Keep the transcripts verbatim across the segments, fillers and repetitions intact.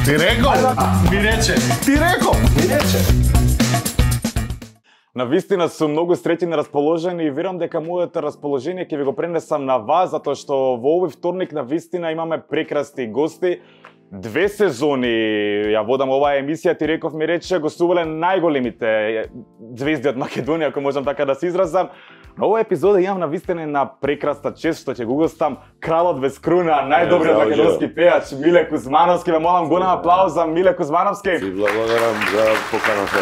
Ти реков, ми рече, ти реков, ми рече. Навистина сум многу среќен и расположен и верувам дека моето расположение ќе ви го пренесам на вас, затоа што во овој вторник навистина имаме прекрасни гости. Две сезони ја водам оваа емисија, ти реков ми рече, гостувале најголемите звезди од Македонија, ако можам така да се изразам. На оваа епизода имам навистина на прекрасна чест што ќе го гостам кралот без круна, најдобриот македонски пејач Миле Кузмановски. Ве молам голем аплауз за Миле Кузмановски. Ти благодарам за поканата.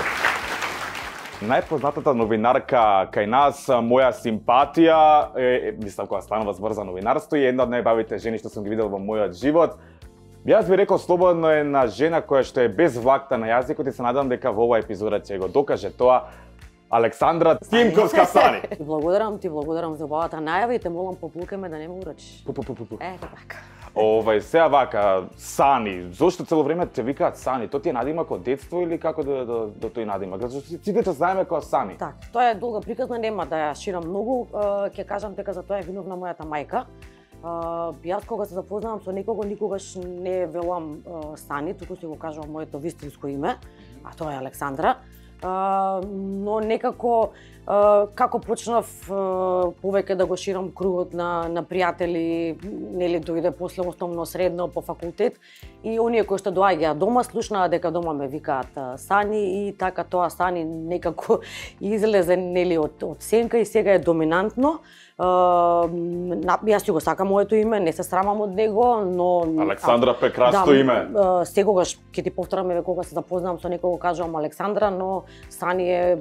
Најпознатата новинарка кај нас, моја симпатија, е, мислам кога станува збор за новинарство, е една од најбавите жени што сум ги видел во мојот живот. Јас би рекол слободно е една жена која што е без влакта на јазикот и се надам дека во оваа епизода ќе го докаже тоа. Александра Тимковска Сани. Ти благодарам, ти благодарам за оваата најава и те молам поплукај ме да не ме урачиш. Пу, пу, пу, пу. Е, така. Овај, сега вака, Сани, зошто цело време те викаат Сани? Тоа ти е надимак од детство или како да, да, да тој надимак? Зашто сите те знаеме како Сани? Так, тоа е долга приказна, нема да ја ширам многу, ќе кажам дека за тоа е виновна мојата мајка. Јас кога се запознавам со некого, никогаш не велам Сани, туку си го кажувам моето вистинско име, а тоа е Александра. Uh, но некако uh, како почнав uh, повеќе да го ширам кругот на на пријатели, нели дојде после основно средно по факултет и оние кои што доаѓаа дома слушнаа дека дома ме викаат uh, Сани и така тоа Сани некако излезе нели од од сенка и сега е доминантно. Uh, јас си го сакам моето име, не се срамам од него, но Александра прекрасно да, име. Uh, сегогаш ќе ти повторам еве кога се запознавам со некого кажувам Александра, но Сани е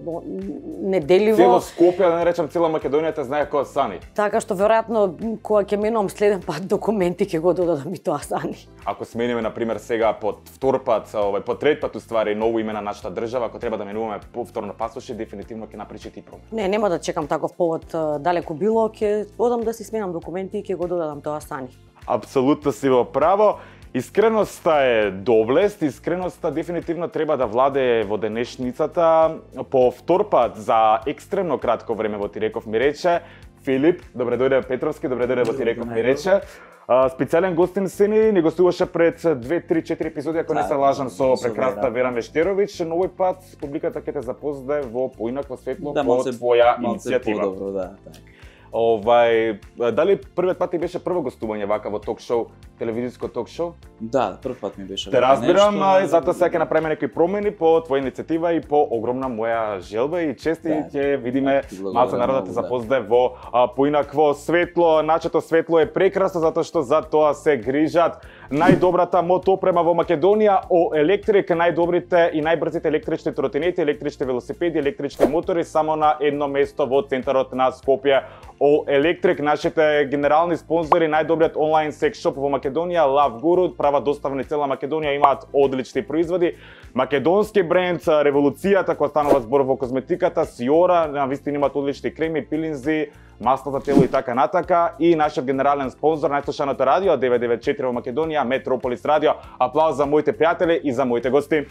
неделиво. Цело Скопје, да не речам цела Македонија те знае кој е Сани. Така што веројатно кога ќе менувам следен пат документи ќе го додадам и тоа Сани. Ако смениме на пример сега под втор пат, овај по трет пат уствари ново име на нашата држава, ако треба да менуваме повторно пасоше, дефинитивно ќе напречи ти промена. Не, нема да чекам таков повод далеку било, ќе одам да си сменам документи и ќе го додадам тоа Сани. Апсолутно си во право. Искреноста е доблест, искреноста дефинитивно треба да владее во денешницата. По втор пат за екстремно кратко време во Ти реков ми рече Филип, добре дојде Петровски, добре дојде во Ти реков ми рече. Специјален гостин се ни, ни гостуваше пред две, три, четири епизоди, ако не се лажам, со прекрасната Вера Мештерович, но овој пат публиката ќе те запознае во поинакво светло да, по твоја иницијатива. Подобро, да, така. Овај, дали првиот пат ти беше прво гостување вака во ток-шоу, телевизиско ток-шоу? Да, прв пат ми беше. Те разбирам, нешто... и затоа сега ќе направиме некои промени по твоја иницијатива и по огромна моја желба и чест и ќе видиме малку народот да те запознае во а, поинакво светло. Начето светло е прекрасно затоа што за тоа се грижат најдобрата мотопрема во Македонија, О Електрик, најдобрите и најбрзите електрични тротинети, електрични велосипеди, електрични мотори само на едно место во центарот на Скопје. О Електрик, нашите генерални спонзори, најдобриот онлайн секс шоп во Македонија, Love Guru, прават доставни цела Македонија, имаат одлични производи. Македонски бренд, револуцијата која станува збор во козметиката, Сиора, навистина имаат одлични креми, пилинзи, масло за тело и така натака. И нашиот генерален спонзор, најслушаното радио девет девет четири во Македонија, Метрополис радио. Аплауз за моите пријатели и за моите гости.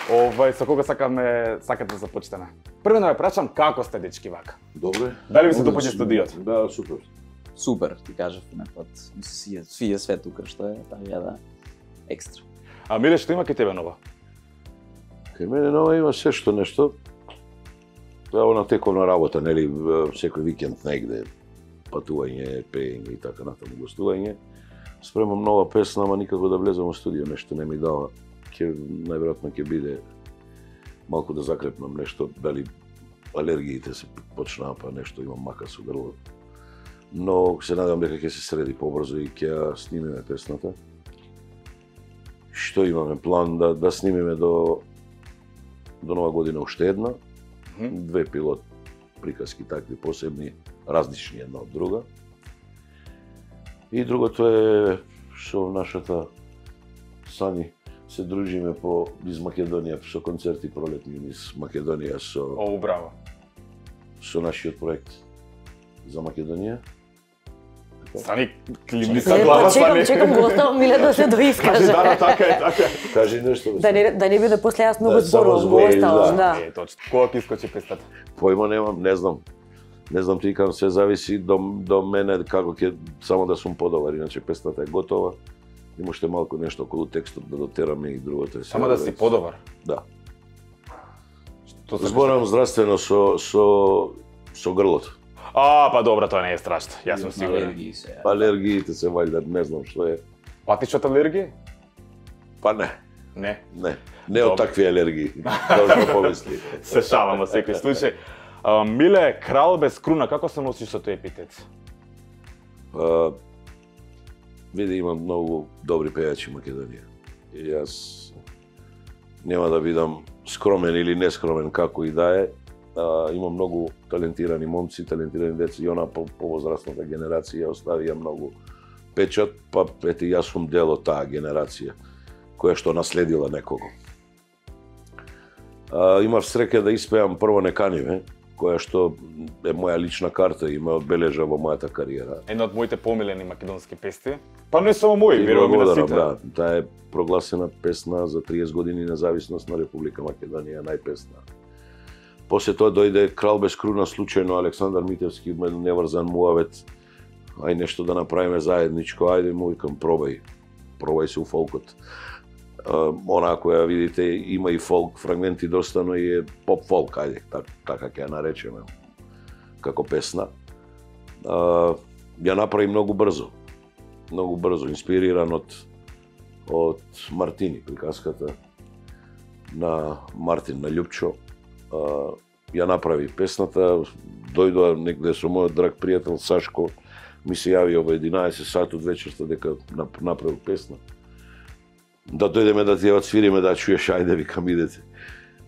Овај, со кога сакаме, сакате да започнеме? Прво да ве прашам како сте дечки вака? Добре. Дали ви се допаѓа студиот? Да, супер. Супер, ти кажав напад. Ми се свија, свија све тука што е, така да екстра. А Миле, што има кај тебе ново? Кај мене ново има се што нешто. Ево на тековна работа, нели, секој викенд негде, патување, пеење и така натаму гостување. Спремам нова песна, ама никако да влезам во студио, нешто не ми дава. Ке, најверојатно ќе биде малку да закрепнам нешто, дали алергиите се почнаа, па нешто имам мака со грло. Но се надевам дека ќе се среди побрзо и ќе ја снимиме песната. Што имаме план да да снимиме до до нова година уште една. Две пилот приказки такви посебни, различни една од друга. И другото е со нашата Сани се дружиме по низ Македонија со концерти пролетни низ Македонија со О, браво. Со нашиот проект за Македонија. Сани, климни са глава, Сани. Чекам, Сани. чекам го оставам Миле да се доискаже. Да, така е, така е. Кажи нешто. Да не, да не биде после јас многу Да, само зборувам, го збори, оставам, да. да. Е, точно. Кога ти искочи пестата? Појма немам, не знам. Не знам, ти кажам, се зависи до, до мене како ќе само да сум подобар, иначе песната е готова. Има уште малку нешто околу текстот да дотераме и другото е. Само да си подобар. Да. Што се Зборам здравствено со со со грлото. А, па добро, тоа не е страшно. Јас сум сигурен. Алергии се. Алергиите се вајда, не знам што е. Патиш од алергија? Па не, Не. не. Не од Добро. такви алергии. Како што помисли. Се шалам во секој случај. А, Миле, крал без круна, како се носиш со тој епитет? А, види, имам многу добри пејачи во Македонија. И јас нема да бидам скромен или нескромен како и да е. А, имам многу талентирани момци, талентирани деца и она по повозрастната генерација оставија многу печат, па ете јас сум дел од таа генерација која што наследила некого. А, имав среќа да испеам прво Не кани ме, која што е моја лична карта и ме одбележа во мојата кариера. Една од моите помилени македонски песни. Па не само мои, И верувам и на благодарам, сите. да. Таа е прогласена песна за триесет години независност на Република Македонија, најпесна. После тоа дојде Крал без круна, случајно Александар Митевски ме неврзан муавет. Ај нешто да направиме заедничко, ајде му викам пробај. Пробај се у фолкот. Uh, она која видите има и фолк фрагменти доста, но и е поп фолк, ајде, так, така ќе ја наречеме како песна. Uh, ја направи многу брзо. Многу брзо, инспириран од од Мартини, приказката на Мартин на Љупчо. Uh, ја направи песната, дојдоа негде со мојот драг пријател Сашко, ми се јави во единаесет сат од вечерта дека направил песна. Да дојдеме да ти ја отсвириме, да чуеш, ајде викам идете.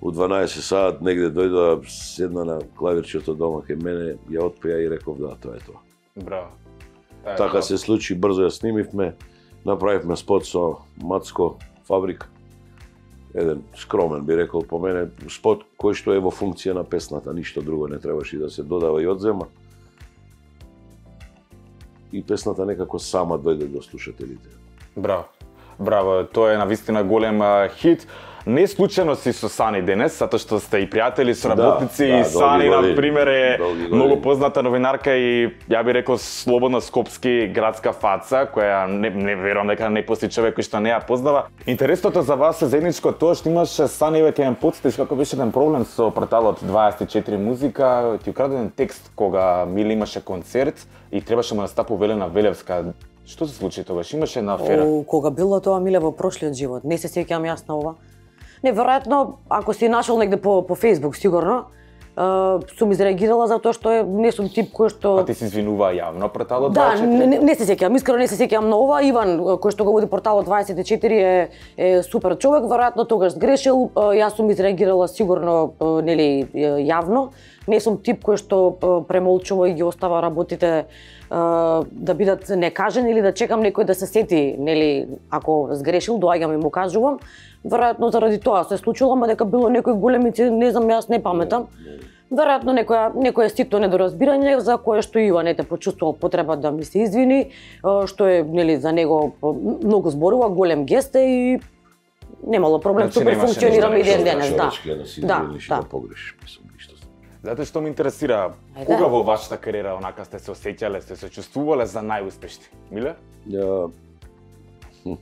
У дванаесет сат негде дојдоа, седна на клавирчето дома кај мене, ја отпеа и реков да, тоа е тоа. Браво. Та е Така тоа. се случи, брзо ја снимивме, направивме спот со Мацко Фабрик. Еден скромен би рекол по мене, спот кој што е во функција на песната, ништо друго не требаше да се додава и одзема. И песната некако сама дојде до слушателите. Браво. Браво, тоа е навистина голем а, хит. Не случајно си со Сани денес, затоа што сте и пријатели, соработници, Да, да, и Сани, долги на години, пример, е долги години. многу позната новинарка и, ја би рекол, слободна скопски градска фаца, која не, не верувам дека не постои човек кој што не ја познава. Интересното за вас е заедничко тоа што имаше Сани, веќе ја потсетиш како беше еден проблем со порталот дваесет и четири музика, ти украден текст кога Миле имаше концерт и требаше му да стапу Велена Велевска. Што се случи тогаш? Имаше една афера. О, кога било тоа, Миле, во прошлиот живот? Не се сеќавам јас на ова. Неверојатно, ако си нашол негде по, по Facebook, сигурно, uh, сум изреагирала затоа што е, не сум тип кој што... Па ти се извинува јавно порталот Да, дваесет и четири? не, не се сеќавам, искрено не се сеќавам на ова. Иван, кој што го води порталот дваесет и четири е, е супер човек, веројатно тогаш сгрешил. Јас сум изреагирала сигурно нели јавно. Не сум тип кој што премолчува и ги остава работите да бидат некажени или да чекам некој да се сети, нели, ако сгрешил, доаѓам и му кажувам. Веројатно заради тоа се случило, ама дека било некој голем инцидент, не знам, јас не паметам. Веројатно некоја некое ситно недоразбирање за кое што Иван ете почувствувал потреба да ми се извини, што е нели за него многу зборува, голем гест е и немало проблем, Значи, супер немаше функционираме и ништо ден денес, да. Човечки е да си Да, извиниш и да. да погрешиш, мислам, ништо. Затоа што ме интересира, Ајде. кога во вашата кариера онака сте се осеќале, сте се чувствувале за најуспешни? Миле? Ја... Хм,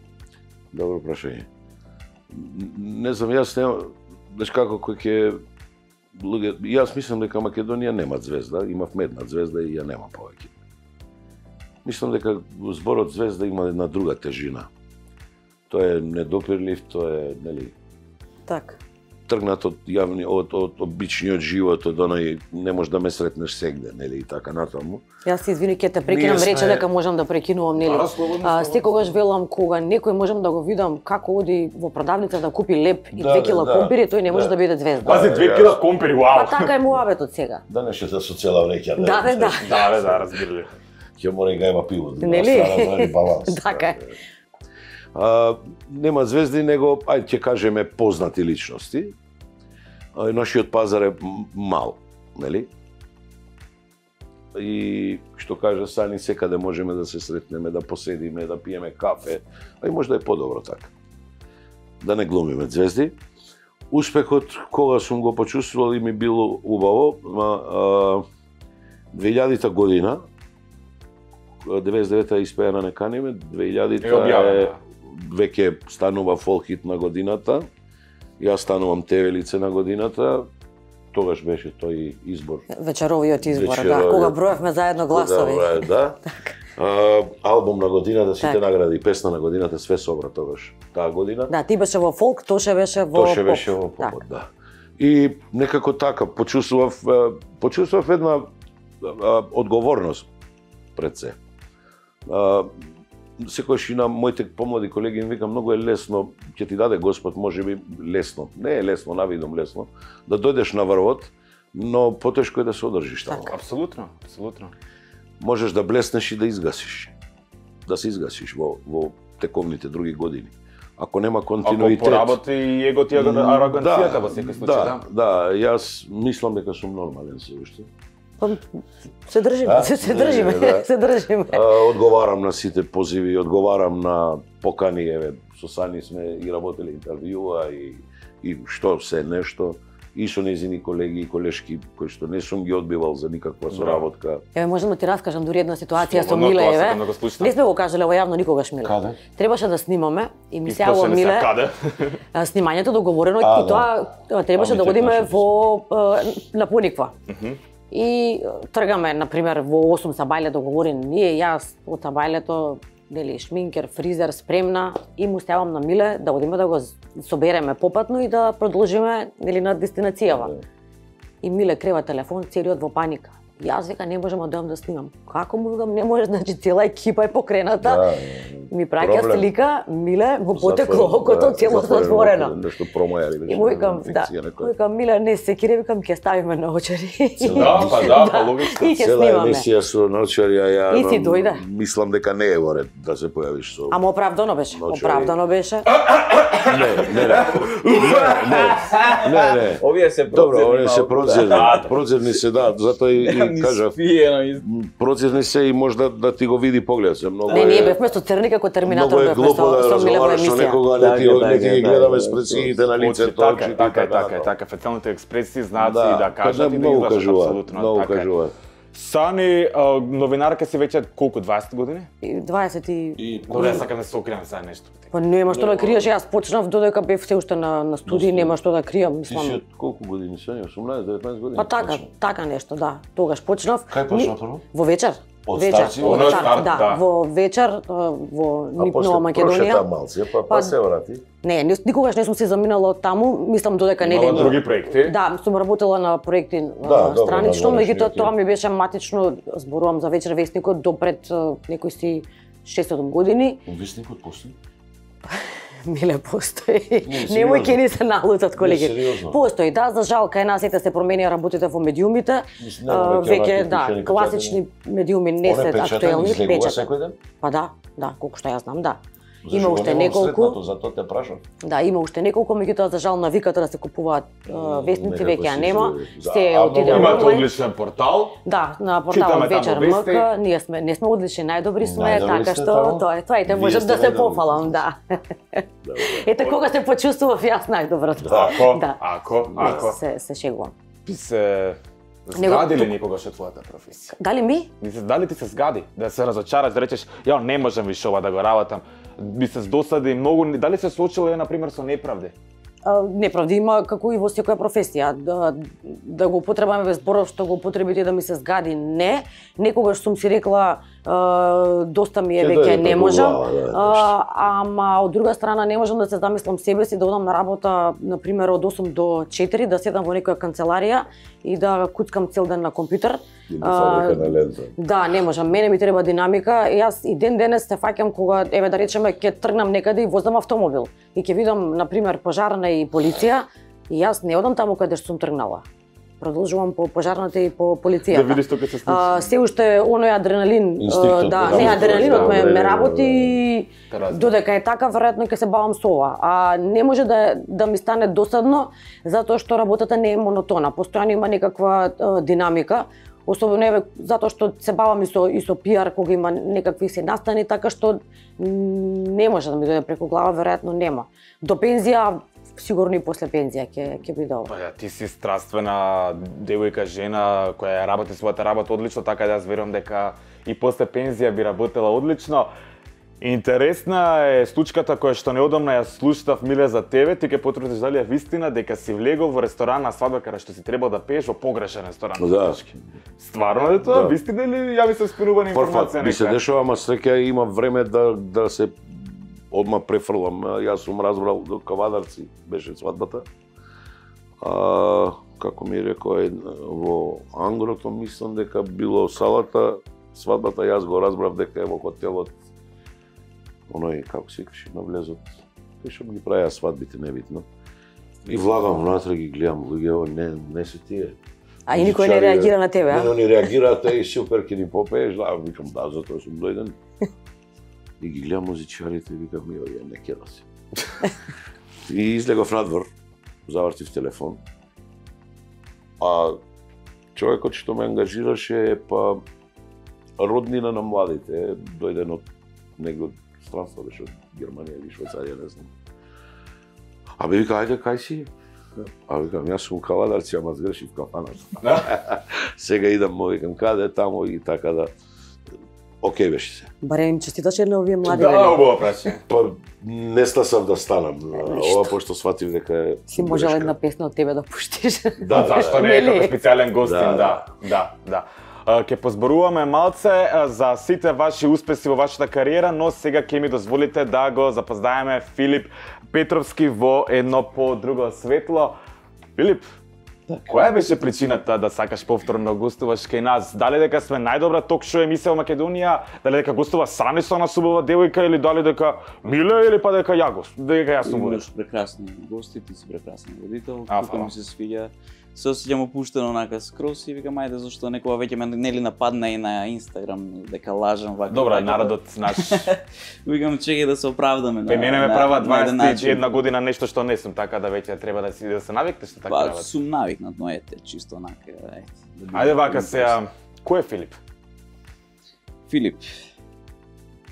добро прашање. Н- Не знам, јас нема... Знаеш како кој ќе... Луѓе... Јас мислам дека Македонија нема звезда, имав една звезда и ја нема повеќе. Мислам дека зборот звезда има една друга тежина. Тоа е недопирлив, тоа е, нели, Така. тргнат од јавни, од, од обичниот живот, од оној не можеш да ме сретнеш сегде, нели, и така натаму. Јас се извини, ќе те прекинам, Ние сме- рече дека можам да прекинувам, нели? Да, слободно, А, слободно. секогаш велам кога некој можам да го видам како оди во продавница да купи леп и Да, две да, кила да. компири, тој не може Да. да биде звезда. Пази, две јас- кила компири, Па вау! така е муабетот сега. Да не шета со цела вреќа. Да, бе, да. Да, бе, да, разбирали. Ќе мора и гајба пиво. да Нели? остане баланс. Така е. А, нема звезди, него, ајде ќе кажеме, познати личности. А, нашиот пазар е м- мал, нели? И што кажа Сани, секаде можеме да се сретнеме, да поседиме, да пиеме кафе, а и може да е подобро така. Да не глумиме звезди. Успехот, кога сум го почувствувал и ми било убаво, ма, а, две илјадита година, деветдесет и девета испеа на Не каниме, две илјадита Е објавена. веќе станува фолк хит на годината, јас станувам те ве лице на годината, тогаш беше тој избор. Вечеровиот избор, Вечеровиот. да, кога броевме заедно гласови. Да, да. А, албум на годината, сите Так. награди, песна на годината, све собра тогаш, таа година. Да, ти беше во фолк, Тоше беше во Тоше поп. беше во попот, да. И некако така, почувствував, а, почувствував една а, одговорност пред се. А, секојаш и на моите помлади колеги им викам, многу е лесно, ќе ти даде Господ, можеби лесно, не е лесно, навидом лесно, да дојдеш на врвот, но потешко е да се одржиш таму. Апсолутно, апсолутно. Можеш да блеснеш и да изгасиш. Да се изгасиш во, во тековните други години. Ако нема Ако континуитет... поработи и егото и ароганцијата во секој случај, да. Да, да, јас мислам дека сум нормален се уште. Па, се држиме, Да? се, се држиме, Не, да. се држиме. А, одговарам на сите позиви, одговарам на покани, еве, со Сани сме и работеле интервјуа и, и што се нешто. И со незини колеги и колешки, кои што не сум ги одбивал за никаква соработка. Еве можам да ти раскажам дури една ситуација со Слободно, Миле, тоа еве. сакам да го слушам. Не сме го кажале во јавно никогаш, Миле. Каде? Требаше да снимаме и ми И се јавува после не се Миле. каде. а, Снимањето договорено А, и тоа а, требаше А, да ми одиме текнаше. во а, на Пониква. И а, тргаме на пример во осум Сабајле договорени ние, јас од Сабајлето, нели шминкер, фризер спремна и му ставам на Миле да одиме да го собереме попатно и да продолжиме нели на дестинацијава. И Миле крива телефон, целиот во паника. Јас века не можам да дојам да снимам. Како му викам не може, значи цела екипа е покрената. Да, Ми праќа проблем. слика, Миле му потекло Затворено, окото да, цело затворено затворено. око, Нешто промаја или И му викам, да, инфекција му некоја. викам, Миле, не се кире, викам, ќе ставиме наочари. Да, па да, па логично. И ќе Цела снимаме. емисија со научарја, ја И си дојде. мислам дека не е во ред да се појавиш со... Ама оправдано беше, Наочари. оправдано беше. Не, не, не. Не, не, не. Овие се Добро, процедни овие се малку, процедни. да. Процедни се, да, затоа и, и Ни кажав, спиено и процедни се и можда да ти го види поглед се многу. Не, е- ние бевме со Црни како Терминатор, Многу е бевме глупо со, да со Миле во разговараш со емисија. некога, а не ти, Така, не ти ги така, гледаме да, спред да, сините на лицето, Така, очите, така, така, така, така, фецијалните експресии, знаци, Да, да кажат и да многу излажат кажуваат, апсолутно. многу така е. кажуваат. Сани, а, новинарка си веќе колку, дваесет години? И дваесет и... И Добре, сакам да се окријам за нешто. Па нема што да криеш, јас почнав додека бев се уште на, на студии, нема што да кријам, ти си мислам. од колку години се? осумнаесет деветнаесет години? Па така, Почна. така нешто, да. Тогаш почнав. Кај почна прво? Во вечер. Од вечер, старци? од Од старт, старт, да, да. во вечер а, во А Нип после Нова прошета Македонија. малце, па, па Па- се врати. Не, ни- никогаш не сум се заминала од таму, мислам додека не Имала ве. други проекти? Да, сум работела на проекти Да, а, добро, странично, да, меѓутоа знаеш, тоа ми беше матично, зборувам за вечер вестникот до пред а, некои си шест-седум години. Вестникот постои? Миле постои. Не, Немој сериозно. ќе ни се налутат колеги. сериозно. Постои, да, за жал кај нас сите се променија работите во медиумите. Мислам, А, нема веќе Веќе онакви да, пишани класични медиуми не се Оне печатен актуелни, излегува печатен. секој ден? Па да, да, колку што ја знам, да. Зашо Има го уште немам неколку. сретнато, затоа те прашам. Да, има уште неколку, меѓутоа за жал навиката да се купуваат а, вестници некако веќе ја се нема. изгледа. Се Да, а отиде многу Имате онлайн. одличен портал. Да, на Читаме порталот таму Вечер вести. МК, ние сме не сме одлични, најдобри сме, Најдобри така сте што таму. тоа е тоа и те Вие можам сте да се најдобри. пофалам, да. Ете кога се почувствував јас најдобро. Ако, Да. ако, ако. Се се шегувам. Ти се Него- згади ли никогаш од твојата професија? Дали ми? Ми се дали ти се згади да се разочараш, да речеш ја не можам више ова да го работам. Би се здосади многу, дали се соочила на пример со неправди? А, неправди има како и во секоја професија. Да, да го употребаме без зборов што го употребите да ми се згади, не. Некогаш сум си рекла а, доста ми е Ќе веќе дојде не преку можам. глава, да, а, ама од друга страна не можам да се замислам себе си да одам на работа на пример од осум до четири, да седам во некоја канцеларија и да куцкам цел ден на компјутер. И на фабрика на лента. Да, не можам. Мене ми треба динамика. И јас и ден денес се фаќам кога еве да речеме ќе тргнам некаде и возам автомобил и ќе видам на пример пожарна и полиција и јас не одам таму каде што сум тргнала. Продолжувам по пожарната и по полицијата. Да видиш тоа ќе се случи. А, се уште оној адреналин, Инстинктот, а, да, да, не да, адреналинот да, ме, да, ме да, работи и Те разбирам. додека е така веројатно ќе се бавам со ова. А не може да да ми стане досадно затоа што работата не е монотона. Постојано има некаква а, динамика. Особено еве затоа што се бавам и со и со пиар кога има некакви се настани, така што м, не може да ми дојде преку глава, веројатно нема. До пензија сигурно и после пензија ќе ќе биде ова. Па ја, ти си страствена девојка, жена која ја работи својата работа одлично, така да јас верувам дека и после пензија би работела одлично. Интересна е случката која што неодамна ја слушнав, Миле, за тебе. Ти ке потврдиш дали е вистина дека си влегол во ресторан на свадба каде што си требал да пееш во погрешен ресторан. Да. Стварно е тоа? Да. Вистина или ја ми се спинувана информација? Ми се дешава, ама среќа има време да да се одма префрлам. Јас сум разбрал до Кавадарци беше свадбата. А како ми рекоа во Ангрото, мислам дека било салата, свадбата јас го разбрав дека е во хотелот. Оној, како се викаше, на влезот, кој што ги правеа свадбите, небитно. И влагам внатре, ги гледам, луѓе, не, не се тие. А и никој не реагира на тебе, а? Не, они реагираат, и супер, ке ни попееш, да, викам, да, затоа сум дојден. И ги гледам музичарите и викам, јо, ја не кера се. И излегов надвор, завртив телефон. А човекот што ме ангажираше е па роднина на младите, дојден од негде од странство, беше од Германија или Швајцарија, не знам. А бе вика, ајде, кај си? А викам, јас сум Кавадарци, ама сгрешив кафанат. Сега идам, му викам, каде, тамо и така да... Океј беше се. Барем им честиташе на овие млади. Да, убаво прашање. Па не стасав да станам. Ова пошто сватив дека е Си можел една песна од тебе да пуштиш. Да, Зашто не е како специјален гостин, Да, да, да, да. А, Ке позборуваме малце а, за сите ваши успеси во вашата кариера, но сега ќе ми дозволите да го запознаеме Филип Петровски во едно по-друго светло. Филип, која беше причината да сакаш повторно гостуваш кај нас? Дали дека сме најдобра ток-шоу емисија во Македонија, дали дека гостува Сани со нас убава девојка или дали дека Миле или па дека ја гост, дека јас сум водил? Имаш прекрасни гости, ти си прекрасен водител, А, тука фала. ми се свиѓа. Се осеќам опуштено онака скрос и викам ајде зашто некоја веќе ме нели нападна и на Инстаграм дека лажам вака. Добро, вака. народот наш. Викам чекај да се оправдаме. Пе мене ме права на еден дваесет и една начин. година нешто што не сум, така да веќе треба да си да се навикнеш на така Па работа. сум навикнат, но ете чисто онака. Ајде. да бидам- Ајде вака да се, а, кој е Филип? Филип.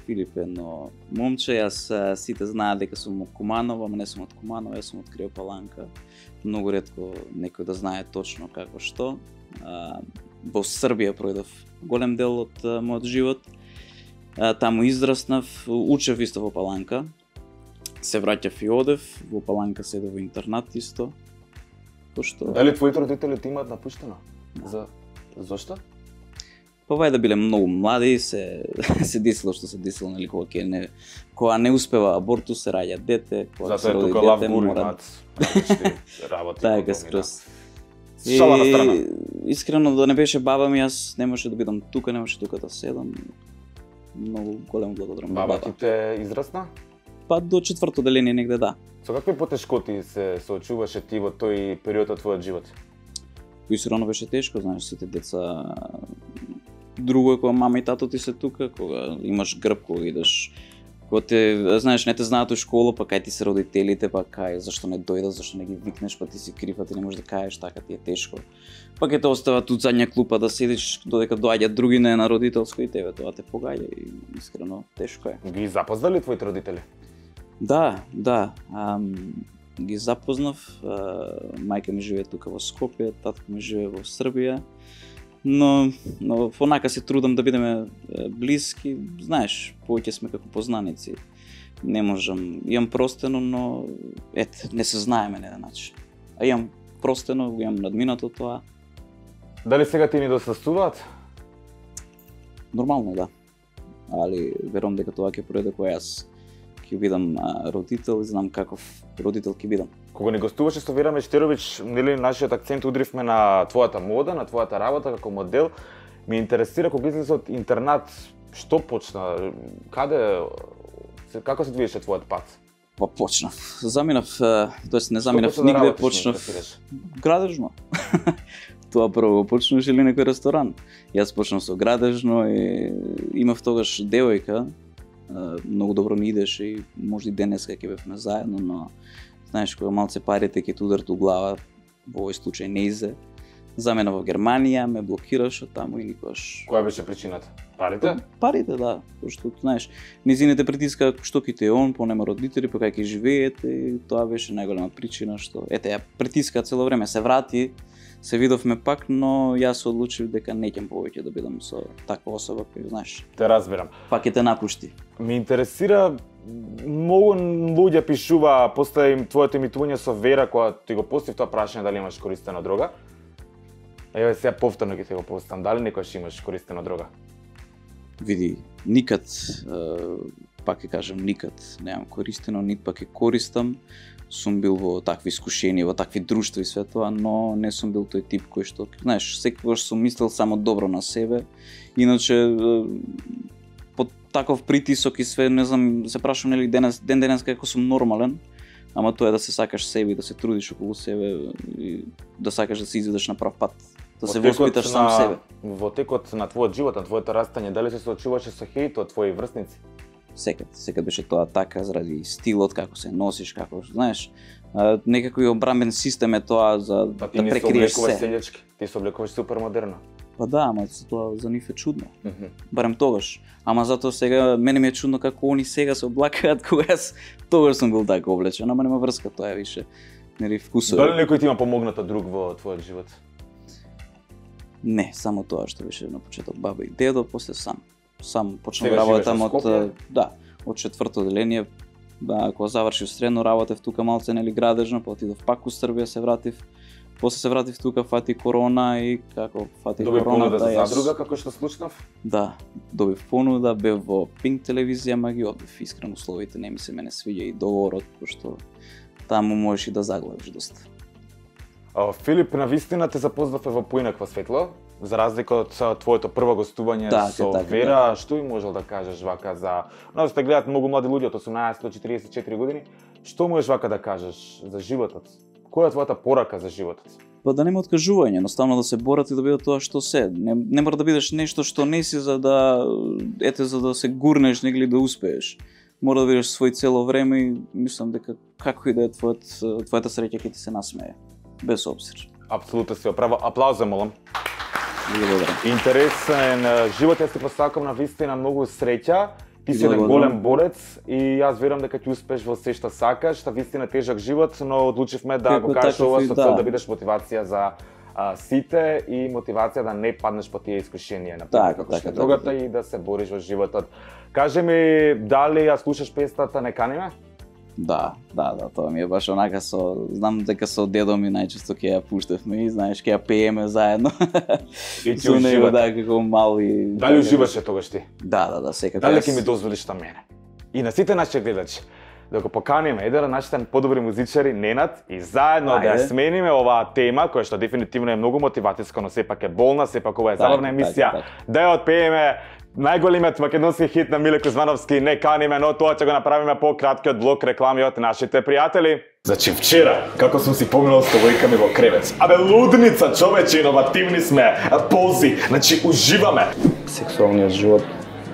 Филип е едно момче, јас а, сите знаат дека сум од Куманово, ама не сум од Куманово, јас сум од Криопаланка. Многу ретко некој да знае точно како што. А, во Србија пројдов голем дел од а, мојот живот. А, таму израснав, учев исто во Паланка. Се враќав и одев, во Паланка седев во интернат исто. Пошто Дали твоите родители ти имаат напуштено? За зошто? Па вајде биле многу млади, се се десило што се десило, нели кога ќе не кога не успева абортус, се раѓа дете, кога Затоа се е роди тука лав дете, гури мора имаат различни работи. така подобни, скрос. да. Шала на страна. Искрено да не беше баба ми, јас не можеше да бидам тука, не можеше тука да седам. Многу голем благодарам на Баба баба. ти те израсна? Па до четврто деление негде да. Со какви потешкоти се соочуваше ти во тој период од твојот живот? Искрено беше тешко, знаеш, сите деца. Друго е кога мама и тато ти се тука, кога имаш грб, кога идеш, кога те, знаеш, не те знаат у школа, па кај ти се родителите, па кај, зашто не дојдат, зашто не ги викнеш, па ти си крив, па ти не можеш да кажеш, така ти е тешко. Па ќе те остават тут задња клупа да седиш, додека доаѓаат други не на родителско и тебе тоа те погаѓа и искрено тешко е. Ги запознали твоите родители? Да, да. Ам, ги запознав. А, мајка ми живее тука во Скопје, татко ми живее во Србија. Но, но понака се трудам да бидеме е, блиски. Знаеш, повеќе сме како познаници. Не можам. Имам простено, но ете, не се знаеме на еден начин. А имам простено, го имам надминато тоа. Дали сега ти ни досастуваат? Нормално да. Али верувам дека тоа ќе пројде кога јас ќе бидам а, родител и знам каков родител ќе бидам. Кога ни гостуваше со Вера Мечтеровиќ, нели нашиот акцент удривме на твојата мода, на твојата работа како модел. Ме интересира кога излезе од интернат, што почна? Каде се- како се движеше твојот пат? Па почнав. Заминав, тоест не Што заминав почна да нигде, работиш, ме почнав интересираш? градежно. Тоа прво почнуваш или некој ресторан. Јас почнав со градежно и имав тогаш девојка, а, многу добро ми идеше и може и денеска ќе бевме заедно, но знаеш кога малце парите ќе ти ударат у глава, во овој случај не изе. Замена во Германија, ме блокираше таму и никогаш. Која беше причината? Парите? Парите, да, пошто знаеш, низините притиска што ќе те он, по нема родители, па кај ќе живеете и тоа беше најголема причина што ете ја притиска цело време, се врати, се видовме пак, но јас се одлучив дека неќам повеќе да бидам со таква особа кој, знаеш, Те разбирам. пак ќе те напушти. Ме интересира, многу луѓе пишува, после им твоето имитување со Вера, кога ти го постив тоа прашање дали имаш користена дрога. Еве сега повторно ќе ти го поставам, дали некојаш имаш користена дрога? Види, никад, пак ќе кажам, никад немам користено, нит пак ќе користам. Сум бил во такви искушенија, во такви друштва и све тоа, но не сум бил тој тип кој што, знаеш, секогаш сум мислел само добро на себе. Иначе под таков притисок и све, не знам, се прашувам нели денес, ден денес како сум нормален, ама тоа е да се сакаш себе и да се трудиш околу себе и да сакаш да се изведеш на прав пат, да се воспиташ сам себе. Во текот на твојот живот, на твоето растање, дали се соочуваше со хејт од твои врсници? Секад, секад беше тоа така заради стилот, како се носиш, како, знаеш, а, некако и обрамбен систем е тоа за Па ти да не се прекриеш облекуваш се. селјачки, ти се облекуваш супер модерно. Па да, ама тоа за нив е чудно. Mm -hmm. Барем тогаш. Ама затоа сега мене ми е чудно како они сега се облакаат кога јас тогаш сум бил така облечен, ама нема врска, тоа е више нели вкусови. Дали некој ти има помогнато друг во твојот живот? Не, само тоа што беше на почеток баба и дедо, после сам. Сам почнав Сега живееш работам во од Скопје? да, од четврто одделение. Да, кога завршив средно, работев тука малце нели градежно, па отидов пак у Србија, се вратив. После се вратив тука, фати корона и како фати Доби корона, понуда за јас- задруга како што слушнав? Да, добив понуда, бев во Пинк телевизија, ма ги одбив. Искрено условите не ми се мене свиѓа и договорот, пошто таму можеш и да заглавиш доста. А, Филип, навистина те запознавме во поинакво светло, за разлика од а, твоето прво гостување Така, со така, Вера, што би можел да кажеш вака за... Нас те гледат многу млади луѓе од осумнаесет до четириесет и четири години, што можеш вака да кажеш за животот? Која е твојата порака за животот? Па да нема откажување, едноставно да се борат и да биде тоа што се. Не, не мора да бидеш нешто што не си за да ете за да се гурнеш или да успееш. Мора да бидеш свој цело време и мислам дека како и да е твојот твојата среќа ќе ти се насмее. Без обзир. Апсолутно си оправа. Аплауз, молам. Благодарам. Интересен а, живот, јас ти посакам на вистина многу среќа. Ти си еден Благодарам. голем борец и јас верувам дека ќе успееш во се што сакаш, та вистина тежок живот, но одлучивме да Како го кажеш таков ова и со да. цел да бидеш мотивација за а, сите и мотивација да не паднеш по тие искушенија на Така, како така, што е така, другата така. и да се бориш во животот. Кажи ми, дали ја слушаш песната Не кани ме? Да, да, да, тоа ми е баш онака со, знам дека со дедо ми најчесто ќе ја пуштевме и знаеш ќе ја пееме заедно. И ти Со него, уживате. да, како мал и... Дали уживаше тогаш ти? Да, да, да, секако. Дали јас- ќе ми дозволиш на мене? И на сите наши гледачи, да го поканиме еден од нашите подобри музичари, Ненад, и заедно да ја Ајде. смениме оваа тема, која што дефинитивно е многу мотивацијска, но сепак е болна, сепак ова е Така, забавна така, емисија, така. да ја отпееме најголемиот македонски хит на Миле Кузмановски, Не каниме, но тоа ќе го направиме по краткиот блок реклами од нашите пријатели. Значи вчера, како сум си поминал со војками во кревет. Абе лудница, човече, иновативни сме, пози, значи уживаме. Сексуалниот живот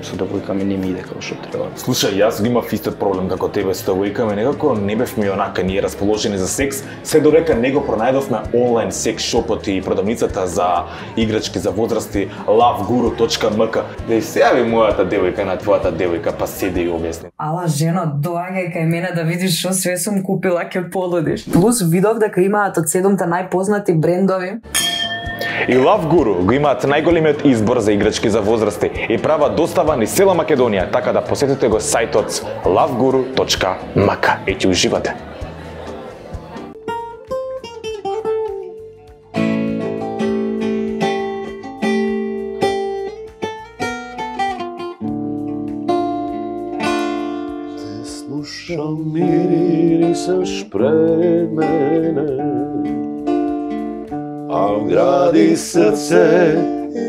со девојками не ми иде како што треба. Слушај, јас го имав истиот проблем како тебе со девојками, некако не бевме онака ние расположени за секс, се додека не го пронајдовме онлайн секс шопот и продавницата за играчки за возрасти love guru точка m k. Да и се јави мојата девојка на твојата девојка, па седи и објасни. Ала жено, доаѓај кај мене да видиш што све сум купила, ќе полудиш. Плюс видов дека имаат од седумте најпознати брендови. И Love Guru го имаат најголемиот избор за играчки за возрасти и прават достава низ цела Македонија, така да посетите го сајтот love guru точка m k и ќе уживате. Слушам мирисаш пред мене, а гради срце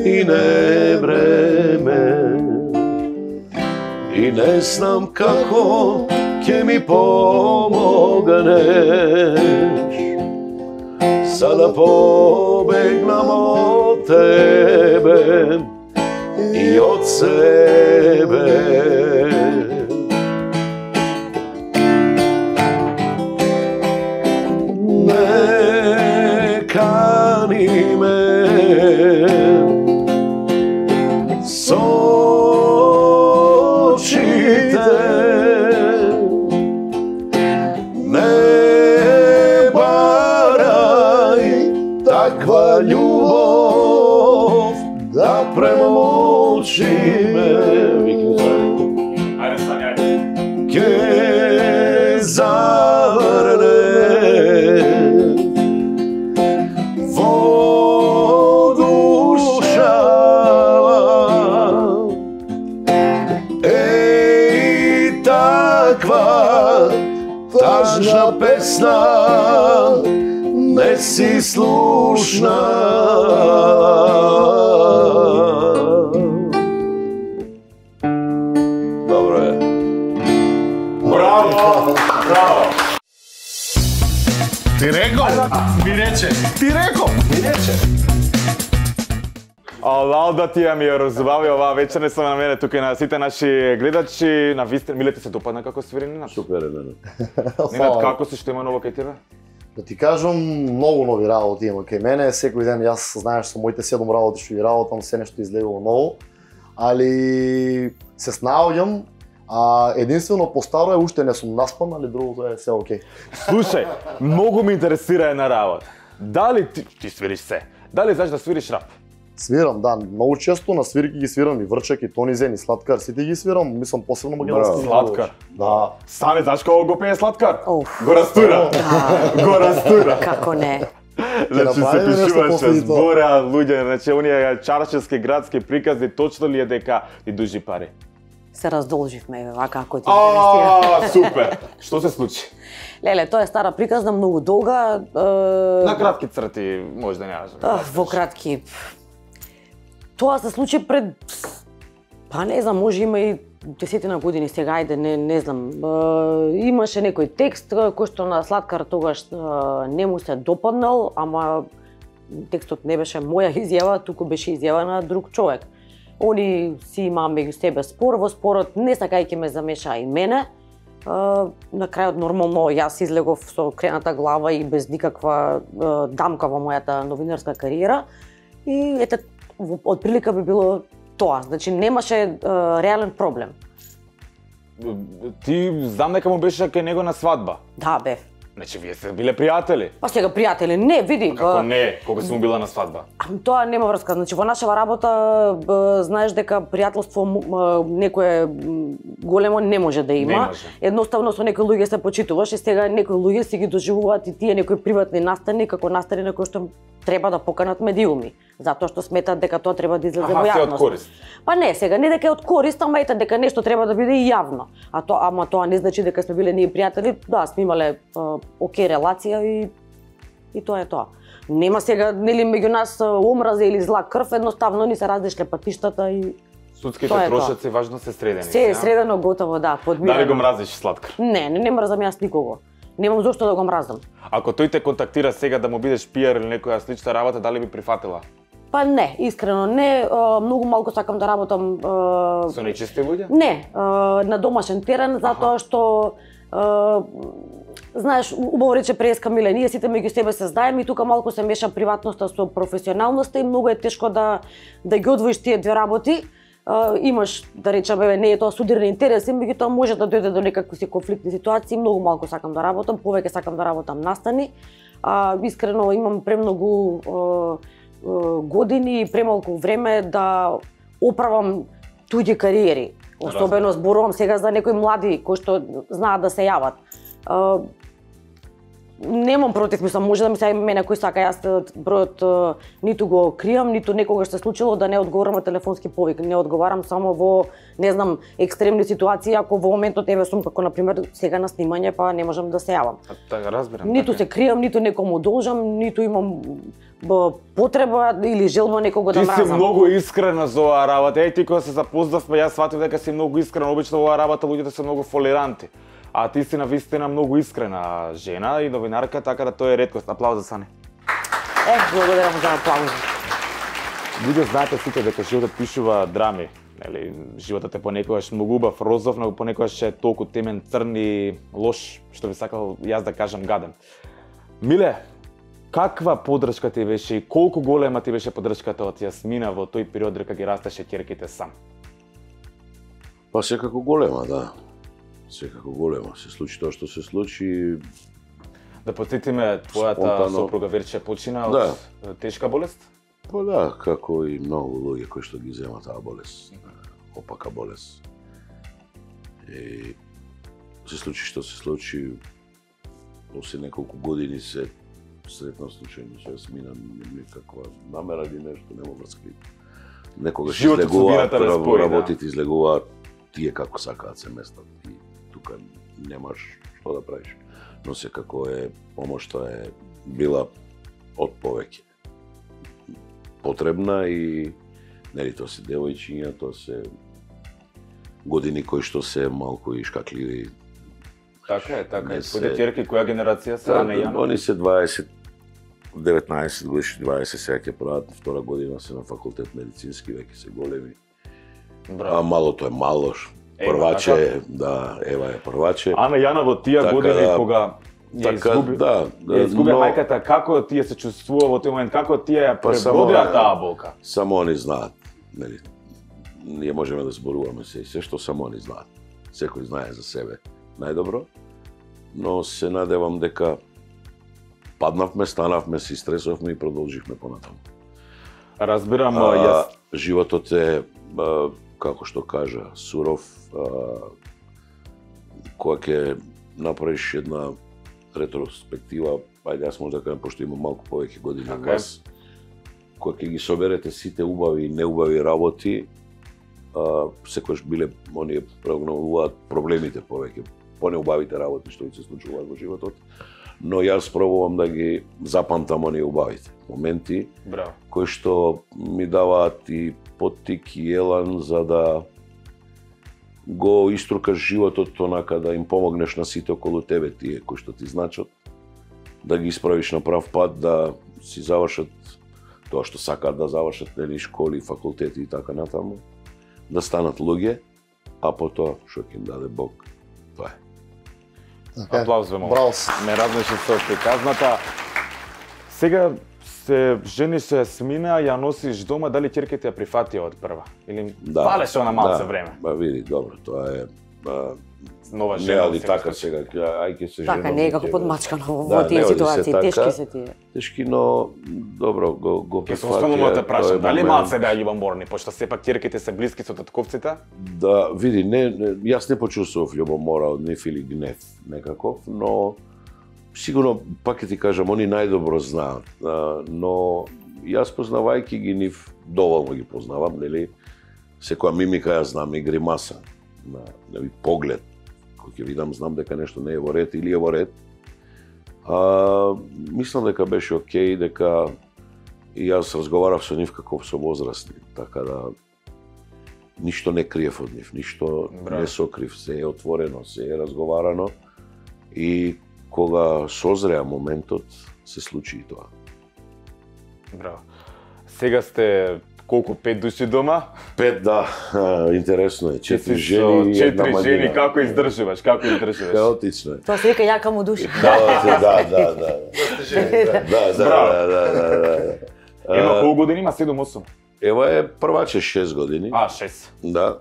и не време. И не знам како ќе ми помогнеш, за да побегнам од тебе и од себе. Не кани ме со очите, не барај таква научи ме, викни Сани. Ајде, Сани, ајде. Ке заврне во душа. Еј, таква тажна песна не си слушна. Добро е. Браво! Браво! Ти реков, ми рече. Ти реков, ми рече. Алал да ти ја ми ја разбави оваа вечер, не само на мене, тука и на сите наши гледачи. На вистина, Миле, ти се допадна како свири Нинат? Супер е, мене. Нинат, како си, што има ново кај тебе? Да ти кажам, многу нови работи има кај мене. Секој ден јас знаеш со моите седум работи што ги работам, се нешто излегува ново. Али се снаоѓам, а единствено по старо е уште не сум наспан, али другото е се окей. Слушај, многу ме интересира една работа. Дали ти, ти свириш се? Дали знаеш да свириш рап? Свирам, да, многу често на свирки ги свирам и Врчак, и Тони Зен, и Сладкар, сите ги свирам, мислам посебно македонски. Сладкар. Да. Сане, знаеш кога го пее Сладкар? Оф. Го растура. Го растура. Како не? Значи се направиме нешто пишуваше после и тоа. збора луѓе, значи оние чарчевски градски приказни, точно ли е дека ти дужи пари? Се раздолживме, вака ако ти интересира. А, супер. Што се случи? Леле, тоа е стара приказна, многу долга. На кратки црти, може да не кажам. Во кратки. Тоа се случи пред, па не знам, може има и десетина години сега, ајде, не, не знам. Е, имаше некој текст кој што на Сладкар тогаш е, не му се допаднал, ама текстот не беше моја изјава, туку беше изјава на друг човек. Они си имаа меѓу себе спор, во спорот не сакајќи ме замеша и мене. Е, на крајот нормално јас излегов со крената глава и без никаква е, дамка во мојата новинарска кариера. И ете, од прилика би било тоа, значи немаше е, реален проблем. Ти знам дека му беше кај него на свадба. Да, бев. Значи, вие сте биле пријатели. Па сега пријатели, не, види. Како ба, не, кога си му била на свадба? а, Тоа нема врска, значи во нашава работа б, знаеш дека пријателство м, м, некое м, големо не може да има. Не може. Едноставно со некои луѓе се почитуваш и сега некои луѓе си ги доживуваат и тие некои приватни настани како настани на кои што треба да поканат медиуми, затоа што сметат дека тоа треба да излезе во Аха, се од јавност. корист. Па не, сега не дека е од корист, ама ете дека нешто треба да биде и јавно. А тоа, ама тоа не значи дека сме биле ние пријатели. Да, сме имале а, окей релација и и тоа е тоа. Нема сега нели меѓу нас а, омраза или зла крв, едноставно ни се различни патиштата и Судските Тоа е тоа. трошоци важно се средени. се е ја? средено готово, да, подмирено. Дали го мразиш Сладкар? Не, не, не мразам јас никого. Немам зошто да го мразам. Ако тој те контактира сега да му бидеш пиар или некоја слична работа, дали би прифатила? Па не, искрено не, а, многу малку сакам да работам а, Со нечисти луѓе? Не, а, на домашен терен, затоа што а, знаеш, убаво рече Преска Миле, ние сите меѓу себе се знаеме и тука малку се меша приватноста со професионалноста и многу е тешко да да ги одвоиш тие две работи. Uh, имаш, да речеме, не е тоа судирни интереси, меѓутоа може да дојде до некакви си конфликтни ситуации, многу малку сакам да работам, повеќе сакам да работам настани. Uh, искрено имам премногу uh, uh, години и премалку време да оправам туѓи кариери. Особено зборувам сега за некои млади кои што знаат да се јават. Uh, Немам против, мислам, може да ми се јави мене кој сака, јас бројот е, ниту го кријам, ниту некогаш се случило да не одговорам на телефонски повик. Не одговарам само во, не знам, екстремни ситуации, ако во моментот еве сум како на пример сега на снимање, па не можам да се јавам. Така, разбирам. Ниту така. се кријам, ниту некому должам, ниту имам б, потреба или желба некого да Ти мразам. си многу искрена за оваа работа. Еј ти кога се запознавме, јас сватив дека си многу искрена. Обично во оваа работа луѓето се многу фолиранти. А ти си навистина многу искрена жена и новинарка, така да тоа е реткост. Аплауз за Сане. Е, благодарам за аплауз. Луѓе знаете сите дека животот пишува драми. Нели, животот е понекогаш многу убав, розов, но понекогаш е толку темен, црн и лош, што би сакал јас да кажам гаден. Миле, каква поддршка ти беше и колку голема ти беше поддршката од Јасмина во тој период дека ги растеше ќерките сам? Па секако голема, да. Секако голема. Се случи тоа што се случи. Да потсетиме, твојата Спонтано. сопруга Верче почина од Да. тешка болест? Па да, како и многу луѓе кои што ги земат таа болест, опака болест. И се случи што се случи, после неколку години се сретнав случајно со Јасмина, никаква намера или нешто, нема врска. Некогаш излегуваат, работите излегуваат, тие како сакаат се местат и тука немаш што да правиш. Но секако е помошта е била од повеќе потребна и нели тоа се девојчиња, тоа се години кои што се малку и шкакливи. Така е, така е. се- Твоите ќерки која генерација се, Ана и Јана? Они се дваесет, деветнаесет годишни, дваесет сега ќе прават втора година се на факултет медицински, веќе се големи. А Браво. малото е мало, Ева, прваче така. е, да, Ева е прваче. Ана и Јана во тие Така години да- кога ја така, изгуби, да, ја изгубија но- мајката, како тие се чувствува во тој момент, како тие ја Па само- пребродија таа болка? Само они знаат, нели? Ние можеме да зборуваме се и се што само они знаат. Секој знае за себе најдобро, но се надевам дека паднавме, станавме, се истресовме и продолживме понатаму. Разбирам, А, јас животот е, а, како што кажа, суров, а, кога ќе направиш една ретроспектива, ајде јас може да кажам, пошто имам малку повеќе години од Така е. вас, кога ќе ги соберете сите убави и неубави работи, а, секојаш биле, оние прогнозуваат проблемите повеќе, понеубавите работи што ќе се случуваат во животот, но јас пробувам да ги запамтам оние убавите моменти, браво. кои што ми даваат и поттик и елан за да го иструкаш животот онака да им помогнеш на сите околу тебе, тие кои што ти значат, да ги исправиш на прав пат, да си завршат тоа што сакаат да завршат, нели, школи, факултети и така натаму, да станат луѓе, а потоа што ќе им даде Бог, тоа е. Така е. Аплауз за Браво. ме разнеше со приказната. Сега се жени се смина, ја носиш дома, дали ќерките ја прифатија од прва? Или фалеше она малце време? Ба види, добро, тоа е а, Нова не жена. али сега така случи. сега, ај ќе се Така, женам, не е ќе како го- подмачкано Да, во тие не оди се ситуации, така. тешки се тие. Тешки, но добро, го, го Ке се прифатија. останува да те прашам, тој дали момент. малце беа љубоморни, пошто сепак ќерките се блиски со татковците? Да, види, не, не, јас не почувствував љубомора од нив или гнев некаков, но сигурно, пак ќе ти кажам, они најдобро знаат, а, но јас познавајќи ги нив, доволно ги познавам, нели, секоја мимика ја знам и гримаса, на, нели, поглед, кој ќе видам, знам дека нешто не е во ред или е во ред. А, мислам дека беше окей, дека и јас разговарав со нив како со возрастни, така да ништо не криев од нив, ништо Браво. не сокрив, се е отворено, се е разговарано и кога созреа моментот, се случи и тоа. Браво. Сега сте колку, пет души дома? Пет, да, а, интересно е, Ти четири си жени и со една четири жени, младина. како издржуваш, како издржуваш? Хаотично е. Тоа се вика јака му душа. Да, да, да, да, да. Да, да, Браво. да, да, да, да. Ема А, колку години има? седум-осум? Ева е прваче шест години. А, шест. Да.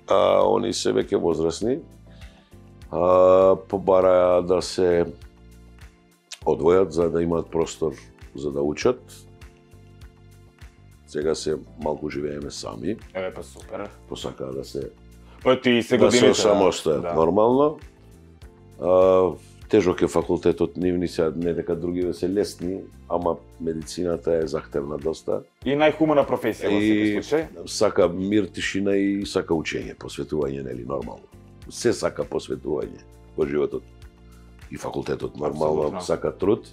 А, они се веќе возрастни. А, побараја да се одвојат за да имаат простор за да учат. Сега се малку живееме сами, Еве па супер. посакаа да се Па ти се да годините. се самостојат да. нормално. А, тежок е факултетот, нивни се не дека другиве се лесни, ама медицината е захтевна доста. И најхумана професија во секој И случај. сака мир, тишина и сака учење, посветување, нели, нормално. Се сака посветување во животот. И факултетот нормално Апсолутно. сака труд.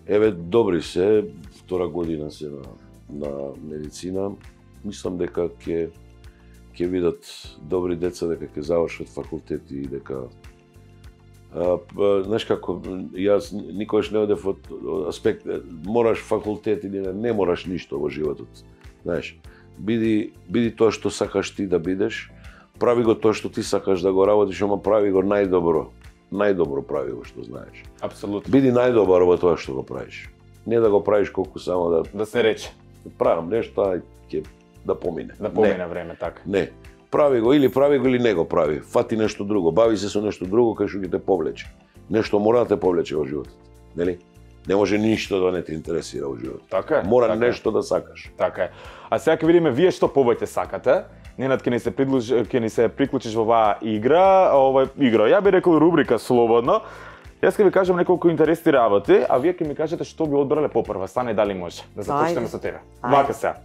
Еве, добри се, втора година се на, на медицина. Мислам дека ќе ќе видат добри деца, дека ќе завршат факултет и дека А, па, знаеш како, јас никогаш не одев од од аспект, мораш факултет или не, не мораш ништо во животот. Знаеш, биди, биди тоа што сакаш ти да бидеш, прави го тоа што ти сакаш да го работиш, ама прави го најдобро. Најдобро прави го што знаеш. Апсолутно. Биди најдобар во тоа што го правиш. Не да го правиш колку само да Да се рече, правам нешто, а ќе да помине. да помине време, така. Не. Прави го или прави го или не го прави. Фати нешто друго, бави се со нешто друго кај што ќе те повлече. Нешто мора да те повлече во животот, нели? Не може ништо да не те интересира во животот. Така е. Мора така нешто да сакаш. Така е. А сега ќе видиме вие што повеќе сакате. Ненад ќе ни се придлуж, ќе ни се приклучиш во оваа игра, ова игра. Ја би рекол рубрика слободно. Јас ќе ви кажам неколку интересни работи, а вие ќе ми кажете што би одбрале попрва. Стане дали може. Да започнеме со тебе. Вака сега.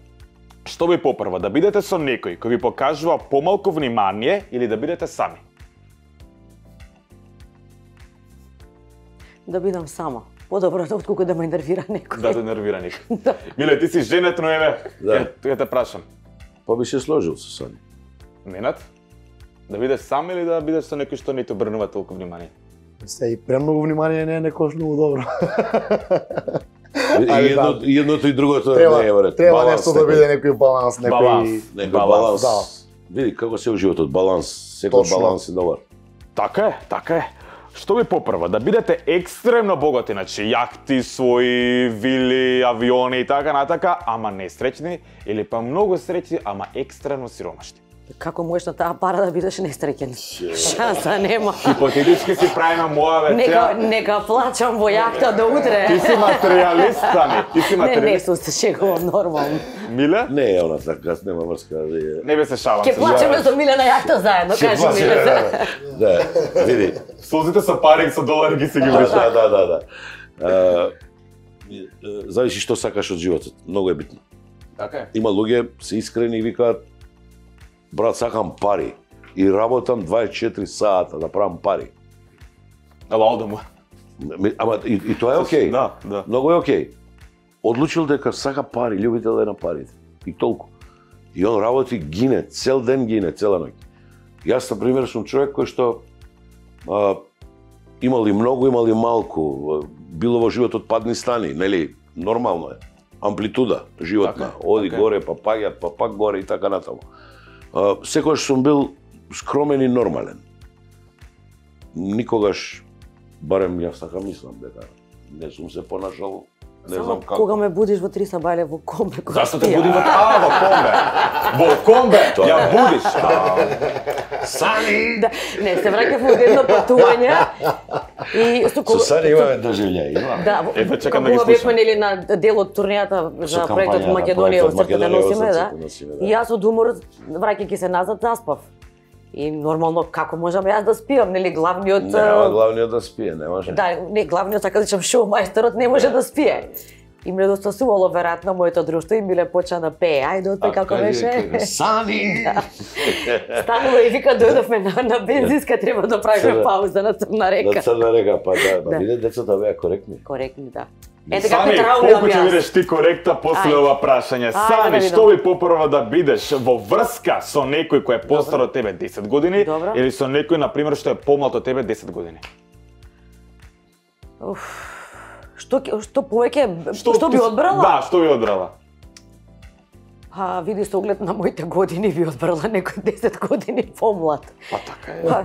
Што би попрва, да бидете со некој кој ви покажува помалку внимание или да бидете сами? Да бидам сама. Подобро да отколку да ме нервира некој. Да те нервира некој. Да. Миле, ти си женетно еве. Да. Ќе те прашам. Па би се сложил со Сани. Ненад? Да бидеш сам или да бидеш со некој што не те обрнува толку внимание? Се и премногу внимание не е некош многу добро. И едно, едното и другото треба, не е вред. Треба нешто да биде некој баланс, некој Баланс. Некој Баланс. баланс. Да. Види како се у животот баланс, секој Точно. баланс е добар. Така е, така е. Што ви попрва, да бидете екстремно богати, значи јахти, своји вили, авиони и така натака, ама несреќни, или па многу среќни, ама екстремно сиромашни? Како можеш на таа пара да бидеш несреќен? Шанса нема. Хипотетички си правиме моја ве Нека, сега. нека плачам во јахта до утре. Ти си материјалист, Сани, ти си Не, не, материјалист. се шегувам нормално. Миле? Не е она така, нема врска да е. Не бе се шалам. Ке се плачеме шалам. со Миле на јахта заедно, кажи ми. Да, види. Солзите со пари и со долари ги си ги Да, вршат. да, да, да, да. А, и, е, зависи што сакаш од животот, многу е битно. Така е. Има луѓе се искрени и викаат брат, сакам пари и работам дваесет и четири сата да правам пари. Ала одам му. Ми- Ама и, и тоа е окей. Да, да. Многу е окей. Одлучил дека сака пари, љубител е на парите. И толку. И он работи, гине, цел ден гине, цела ноќ. Јас, на пример, сум човек кој што а, имали многу, имали малку, било во животот падни стани, нели, нормално е. Амплитуда животна, Така е, оди така е. горе, па паѓат, па пак горе и така натаму. А, секогаш сум бил скромен и нормален. Никогаш, барем јас така мислам дека не сум се понашал, не Само знам како. кога ме будиш во три сабајле во комбе, кога Зашто те спијам. буди во а, во комбе? Во комбе Тоа ја е. будиш. Сани! Да, не, се враќав од едно патување и со Со Сани имаме доживљај, има. Да, во- Ето, чекам да ги кога слушам. бевме нели на дел од турнијата за Со проектот кампањата, Македонија проектот од срцето да Македонија од носиме, да. срцето носиме, да. И јас од умор враќајќи се назад заспав. И нормално како можам јас да спијам, нели главниот Нема главниот да спие, не може. Да, не, главниот така да речам шоу мајсторот не може да спие. И ме недостасувало веројатно моето друштво и Миле почна да пее. Ајде отпе како беше. Сани! Станува и вика дојдовме на, на бензинска, треба да правиме Сега. пауза на Црна На река. Црна река, па да, Да. да. Виде децата беа коректни. Коректни, да. Ете како Сани, траумам колку ќе јас. бидеш ти коректа после Ајде. ова прашање? Ајде Сани, да видам. што ви попрва да бидеш во врска со некој кој е постар од тебе десет години Добро. или со некој на пример што е помлад од тебе десет години? Уф. Што ќе- што повеќе што, би одбрала? Да, што би одбрала? А, види со оглед на моите години би одбрала некој десет години помлад. Па така е. Па,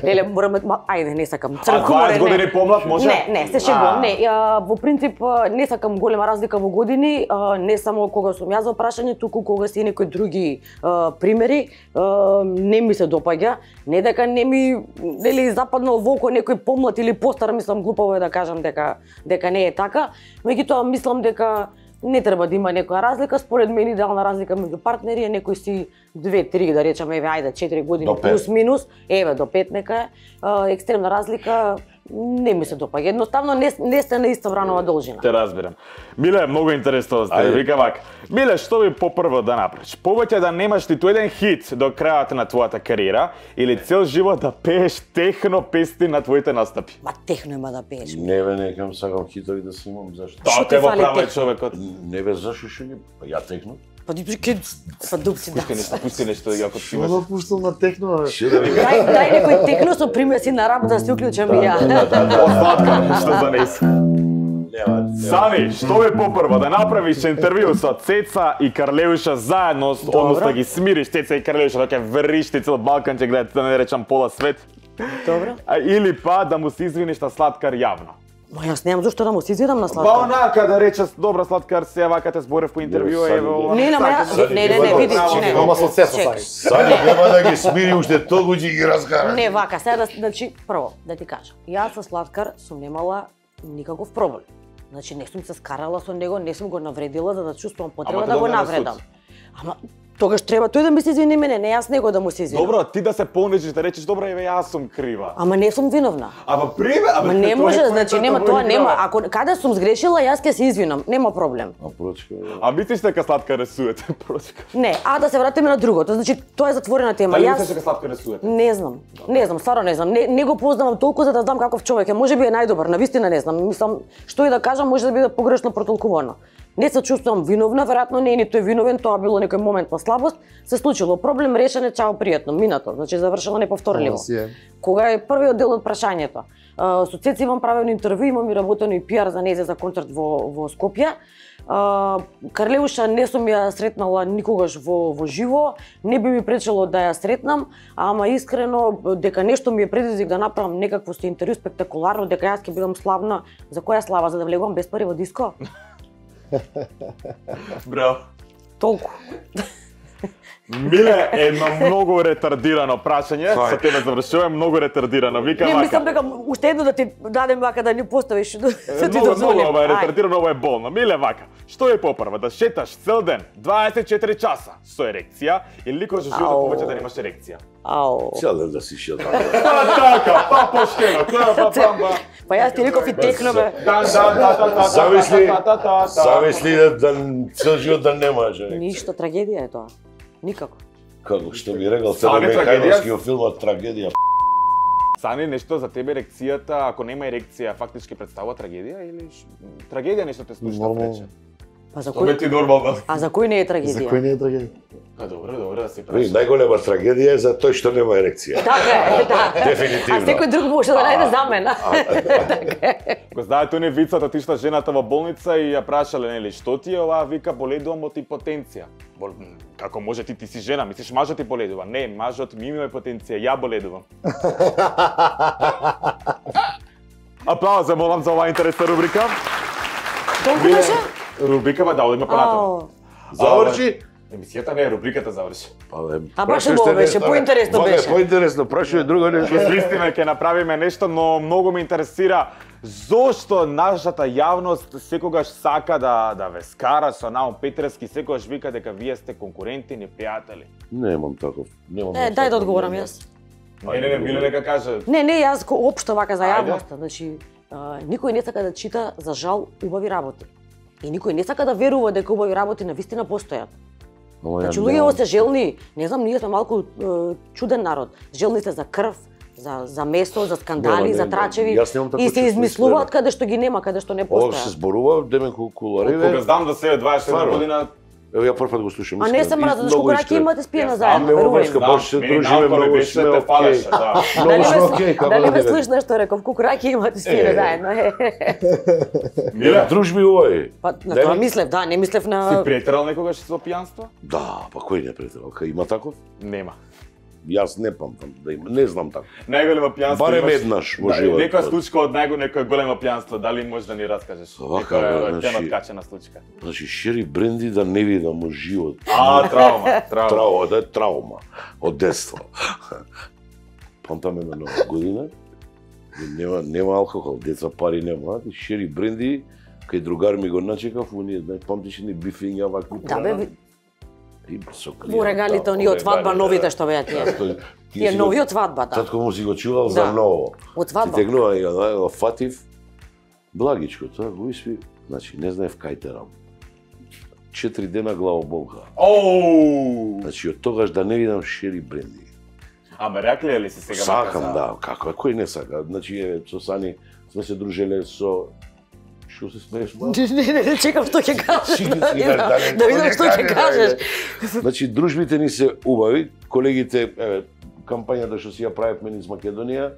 леле, мораме, ма, ајде, не сакам. А Цркуре, дваесет години помлад може? Не, не, се шегувам. А. Не, а, во принцип а, не сакам голема разлика во години, а, не само кога сум јас во прашање, туку кога се и некои други а, примери, а, не ми се допаѓа. Не дека не ми нели западнал во око некој помлад или постар, мислам глупаво е да кажам дека дека не е така, меѓутоа мислам дека не треба да има некоја разлика, според мене идеална разлика меѓу партнери е некој си две три да речеме, еве ајде четири години До пет. плюс минус, еве до пет нека е. А, екстремна разлика не ми се допаѓа. Едноставно не, не сте на иста вранова должина. Те разбирам. Миле, многу интересно да сте. Ајде. Вика вака. Миле, што би попрво да направиш? Повеќе да немаш ниту еден хит до крајот на твојата кариера или цел живот да пееш техно песни на твоите настапи? Ма техно има да пееш. Не бе, некам сакам хитови да се имам, зашто? Што Тоа ти те во фали права е техно? човекот. Не бе, зашто што не? Па ја техно. Па ти ке па дупци да. Пусти нешто, пусти нешто, ако ти Што имаш. да пуштам на техно, бе? Што да ви Дај, дај некој техно со примеси на рап да се уклучам и ја. Остатка, што за неси. Нема, Сани, што е попрво да направиш интервју со Цеца и Карлеуша заедно, односно да ги смириш Цеца и Карлеуша, дека вришти цел Балкан ќе гледате, да не речам пола свет. Добро. А, или па да му се извиниш на Слаткар јавно. Ма јас немам зошто да му се извинам на Па Слаткар. онака да речеш, добра Слаткар, се вака те зборев по интервју, Сани, ево ова. Не, не, ма ја, не, не, не, видиш, не. Ама со се со Чекај. Сани. Сани нема да ги смири уште толку ќе ги разкара. Не, вака, сега да, значи, прво, да ти кажам. Јас со Слаткар сум немала никаков проблем. Значи не сум се скарала со него, не сум го навредила за да чувствувам потреба Ама да го дојде на навредам. суд. Ама тогаш треба тој да ми се извини мене, не јас него да му се извинам. Добро, ти да се понижиш, да речеш добро, еве јас сум крива. Ама не сум виновна. Ама приме, ама Ама не тоа е може, кој значи тоа нема го тоа играва. нема. Ако каде сум сгрешила, јас ќе се извинам, нема проблем. А прочка, А мислиш дека сладка рисуете, прочка? Не, а да се вратиме на другото. Значи тоа е затворена тема. Дали Јас мислиш дека сладка рисуете? не знам. Не знам, стварно не знам. Не, не го познавам толку за да знам каков човек е. Можеби е најдобар, навистина не знам. Мислам, што и да кажам може да биде погрешно протолкувано. Не се чувствувам виновна, веројатно не е ни тој виновен, тоа било некој момент на слабост, се случило проблем, решен е, чао, пријатно, минато, значи завршено неповторливо. Ова си е. Кога е првиот дел од прашањето? А, со Цеци имам правено интервју, имам и работено и пиар за незе за концерт во во Скопје. А, Карлеуша не сум ја сретнала никогаш во во живо, не би ми пречело да ја сретнам, ама искрено дека нешто ми е предизвик да направам некакво со интервју спектакуларно, дека јас ќе бидам славна, за која слава, за да влегувам без пари во диско? Браво. Толку. Миле, едно многу ретардирано прашање, со тебе завршувам, многу ретардирано. Вика Не, вака. мислам дека уште едно да ти дадем вака да ни поставиш, да се ти Многу, дозволим. многу ова е Ај. ретардирано, ова е болно. Миле вака, што е попрва, да шеташ цел ден, дваесет и четири часа со ерекција или никош во животот Ау. повеќе да немаш ерекција? Ау. цел ден да си шил така. Па така, па поштено, па па па па. Па јас ти реков и технове. Да, да, да, да, да. Зависли, да, да, да, да. зависли да, да цел живот да немаш ерекција. Ништо, трагедија е тоа. Никако. Како што би рекал Сани Црне трагедија? Михајловски во филмот Трагедија. Сани, нешто за тебе ерекцијата, ако нема ерекција, фактички представува трагедија или ш... трагедија нешто те случи да Нормално. прече? Па за Тоа кој? ти нормално. А за кој не е За трагедија? кој не е трагедија? Па добро, добро да се Ви, праша. најголема трагедија е за тој што нема ерекција. Така е, да. Дефинитивно. А секој друг може да најде замена. Го знаете оне вицот, отишла жената во болница и ја прашале, нели, што ти е оваа, вика, боледувам од импотенција. Бол, м, како може ти, ти си жена, мислиш мажот ти боледува? Не, мажот ми има импотенција, ја боледувам. Аплауз, за молам за оваа интересна рубрика. Толку Биле- беше? Рубрикава да одиме понатаму. Ау. Заврши? Емисијата не, рубриката заврши. Па, бе, А баш прашај убаво што беше, нешто, поинтересно вака е беше. Поинтересно, прашај друго нешто. Ќе свистиме, ќе направиме нешто, но многу ме интересира зошто нашата јавност секогаш сака да да ве скара со Наум Петревски, секогаш вика дека вие сте конкуренти, непријатели. Немам таков. Немам. Е, дај да одговорам јас. Не, не, не, Миле нека каже. Не, не, јас ко- општо вака за Ајде. јавноста, значи а, никој не сака да чита за жал убави работи. И никој не сака да верува дека убави работи навистина постојат. Ама ја Значи немам. луѓето се желни, не знам, ние сме малку е, чуден народ. Желни се за крв, за за месо, за скандали, Нема, за не, трачеви јас немам такво и се чувство, измислуваат искрено. каде што ги нема, каде што не Ова се постојат. зборува, деме Кога кулариве. знам да се дваесет Стварно? година, Ево ја прв пат го слушам. А не искрено. се мразат, И зашто многу раки искрено. имате спиена Јас заедно, знам, верувај врска, ми. баш се мени дружиме, наукор многу беше сме да те окей. фалеше, да. Многу Дали сме ме, окей, како дали да ме не слушна што реков, кукураки имате спиена Е. заедно. е. Миле, Дружби овој. Па на Дали? тоа мислев, да, не мислев си на претерал некогаш со пијанство? Да, па кој не претерал? Кај има таков? Нема. Јас не памтам да има, не знам тако. Најголемо пијанство Барем имаш- еднаш во Да, животот. Некоја случка од најго некој големо пијанство, дали можеш да ни раскажеш? Вака, Некоја бе, тема значи- откачена случка. Значи, Шери Бренди да не видам во живот. А, травма, травма. Траума, да е траума од детство. Памтам една нова година, и нема, нема алкохол, деца пари немаат, и Шери Бренди, кај другар ми го начекав, оние, знај, памтиш ни бифиња вакви. Да, бе, ви- И со во регалите оние од свадба регалите, новите да. што беа тие. Тој- ти Тие си го- нови од свадба, да. Татко му си го чувал Да. за ново. Од Ти свадба. тегнува и она, го фатив, благичко, тоа го испи, значи не знаев кај терам. Четири дена главоболка. Оу! Значи од тогаш да не видам Шери Бренди. Ама рекле ли си сега? Сакам, мака, да, како, кој не сака? Значи, е, со Сани сме се дружеле со... Шо се смееш, ма? Не, не, не, чекам што ќе кажеш. Си, Да, си, видам- да, не, да видам не што ќе кажеш, кажеш. Значи, дружбите ни се убави, колегите, еве, кампањата што си ја правевме низ Македонија,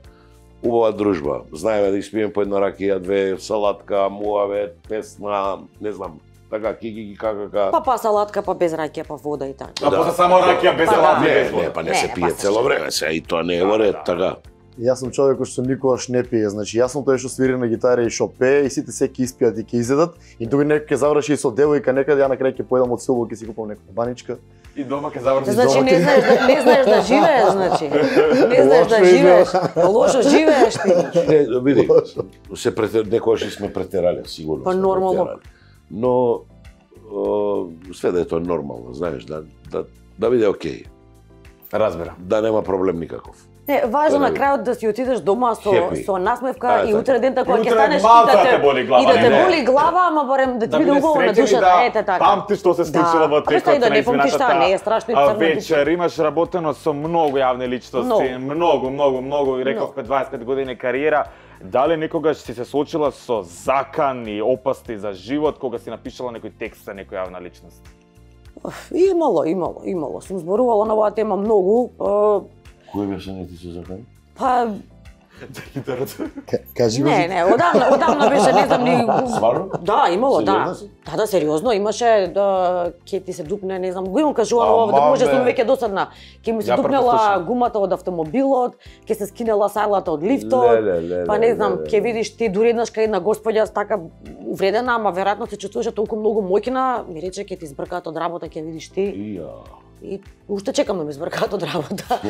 убава дружба. Знаеме да испиеме по една ракија, две, салатка, муавет, песна, не знам, така, ки-ки-ки, ка-ка-ка. Па па салатка, па без раќа, па вода и така. А после само ракија без Па да. салати, Не, без вода. не, па не Не, се па пие се цело шега. време, се и тоа не е во ред, да. така. Јас сум човек кој што никогаш не пие, значи јас сум тој што свири на гитара и што пее и сите се ќе испијат и ќе изедат и тука некој ќе заврши и со девојка некаде, ја на крај ќе појдам од село, ќе си купам некоја баничка И дома ќе завршиш Значи дома. не знаеш да не знаеш да живееш, значи. Не знаеш да живееш. Лошо живееш ти. Не, види, се претер... некогаш сме претерале, сигурно. Па сме нормално. претерале. Но о, све да е тоа нормално, знаеш, да да да биде окей, Разбирам. да нема проблем никаков. Не, важно Тоа на не би. крајот да си отидеш дома со Happy. со насмевка Та е и така. утре дента кога И ќе утре станеш малку и да да те те боли глава, и да те не. боли глава, ама барем да ти Да биде бидеш убаво на среќен и душата, да ете така. памти што се случило во А па текот што и да на не помниш таа, не е изминатата страшно и а, црна вечер. Имаш работено со многу јавни личности, Многу. многу, многу, многу, и рековме дваесет и пет години кариера. Дали некогаш си се соочила со закани, опасни за живот кога си напишала некој текст за некоја јавна личност? Имало, имало, имало. Сум зборувала на оваа тема многу. е, Кој беше не ти се закани? Па За гитарата. Кажи го. не, не, одамна, одамна беше, не знам ни. Стварно? Да, имало, да. Сериозно си? Да, да, сериозно, имаше да ќе ти се дупне, не знам, го имам кажувано Ама, овде, може бе. сум веќе досадна. Ќе ми се Ја дупнела препослушам. гумата од автомобилот, ќе се скинела сајлата од лифтот. Леле, леле, Па не знам, леле. ќе видиш ти дури еднаш кај една господја така увредена, ама веројатно се чувствуваше толку многу моќна, ми рече ќе ти избркаат од работа, ќе видиш ти. Ија. И уште чекам да ми избркаат од работа.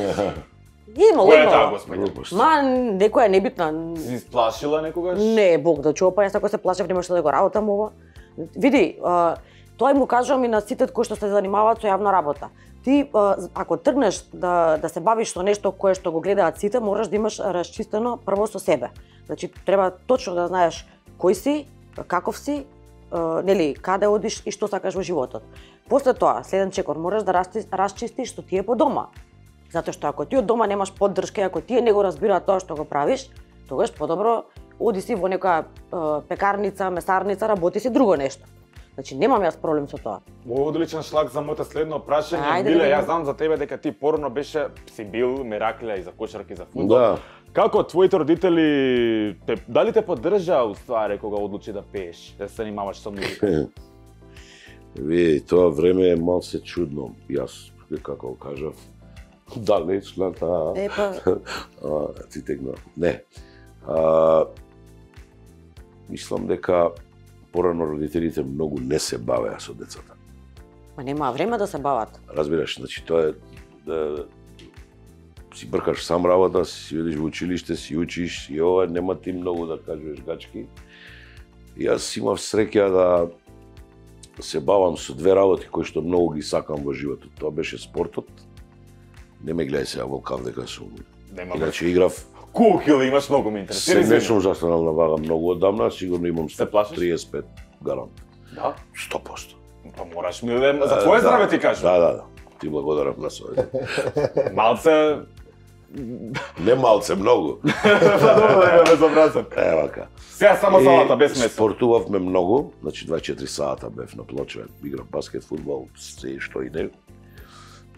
Имало, Која е таа имало. господја? Глупост. Ма, некоја небитна. Си исплашила некогаш? Не, Бог да чува, па јас ако се плашев немаше да го работам ова. Види, а, тоа му кажувам и на сите кои што се занимаваат со јавна работа. Ти а, ако тргнеш да да се бавиш со нешто кое што го гледаат сите, мораш да имаш расчистено прво со себе. Значи треба точно да знаеш кој си, каков си, а, нели, каде одиш и што сакаш во животот. После тоа, следен чекор, мораш да расчистиш, расчистиш што ти е по дома. Затоа што ако ти од дома немаш поддршка, ако тие не го разбираат тоа што го правиш, тогаш подобро оди си во некоја е, пекарница, месарница, работи си друго нешто. Значи немам јас проблем со тоа. Во одличен шлаг за моето следно прашање. Ајде да Биле, видиме. јас знам за тебе дека ти порано беше си бил мераклија и за кошарка и за фудбал. Да. Како твоите родители те дали те поддржаа уствари кога одлучи да пееш, да се занимаваш со музика? Ви, тоа време е малце чудно. Јас, како кажав, далечната... Епа, а, ти тегна. Не. А, мислам дека порано родителите многу не се бавеа со децата. ма нема време да се бават. Разбираш, значи тоа е да си бркаш сам работа, си одиш во училиште, си учиш и ова нема ти многу да кажеш гачки. И јас имав среќа да се бавам со две работи кои што многу ги сакам во животот. Тоа беше спортот. Не ме гледај сега Волкан дека сум. Нема Иначе играв. Кухил имаш многу ме Се интересира. не извини. сум застанал на вага многу одамна, сигурно имам Се плашиш? триесет и пет гарант. Да? сто проценти. Па мораш ми да за твое здраве ти кажам. Да, да, да. Ти благодарам на совет. Малце Не малце, многу. па добро да ме безобразен. Е, вака. Сега само И салата без месо. Спортувавме многу, значи дваесет и четири сата бев на плоча, играв баскет, фудбал, се што и не.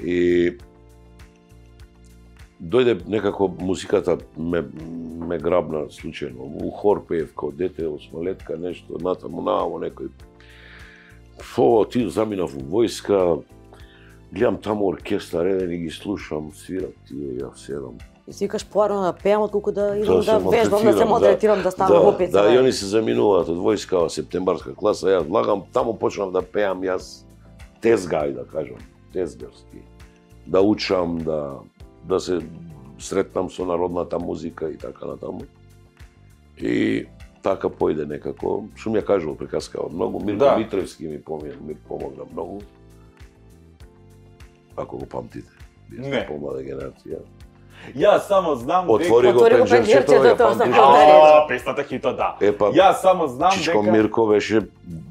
И дојде некако музиката ме ме грабна случајно. У хор пеев као дете, осмолетка, нешто, натаму намо некој. Фо, ти заминав во војска, гледам таму оркестар, еден и ги слушам, свират тие, ја седам. И си викаш поарно да пеам отколку да идам да се вежбам, да се малтретирам, малтретирам, да станам да, опит. Да, бе. и они се заминуваат од војска, септембарска класа, јас влагам, таму почнав да пеам јас тезгај, да кажам, тезгарски. Да учам, да, да се сретнам со народната музика и така натаму. И така појде некако. Сум ја кажувал приказка од многу, Мирко Да. Митревски ми помогна, ми помогна многу. Ако го памтите, вие Не. сте помлада генерација. Јас само знам Отвори го Отвори го пенџерчето, пенџерчето, ја тоа сакам памтиш? да А, песната хито, да. Епа, Јас само знам Чичко дека Мирко беше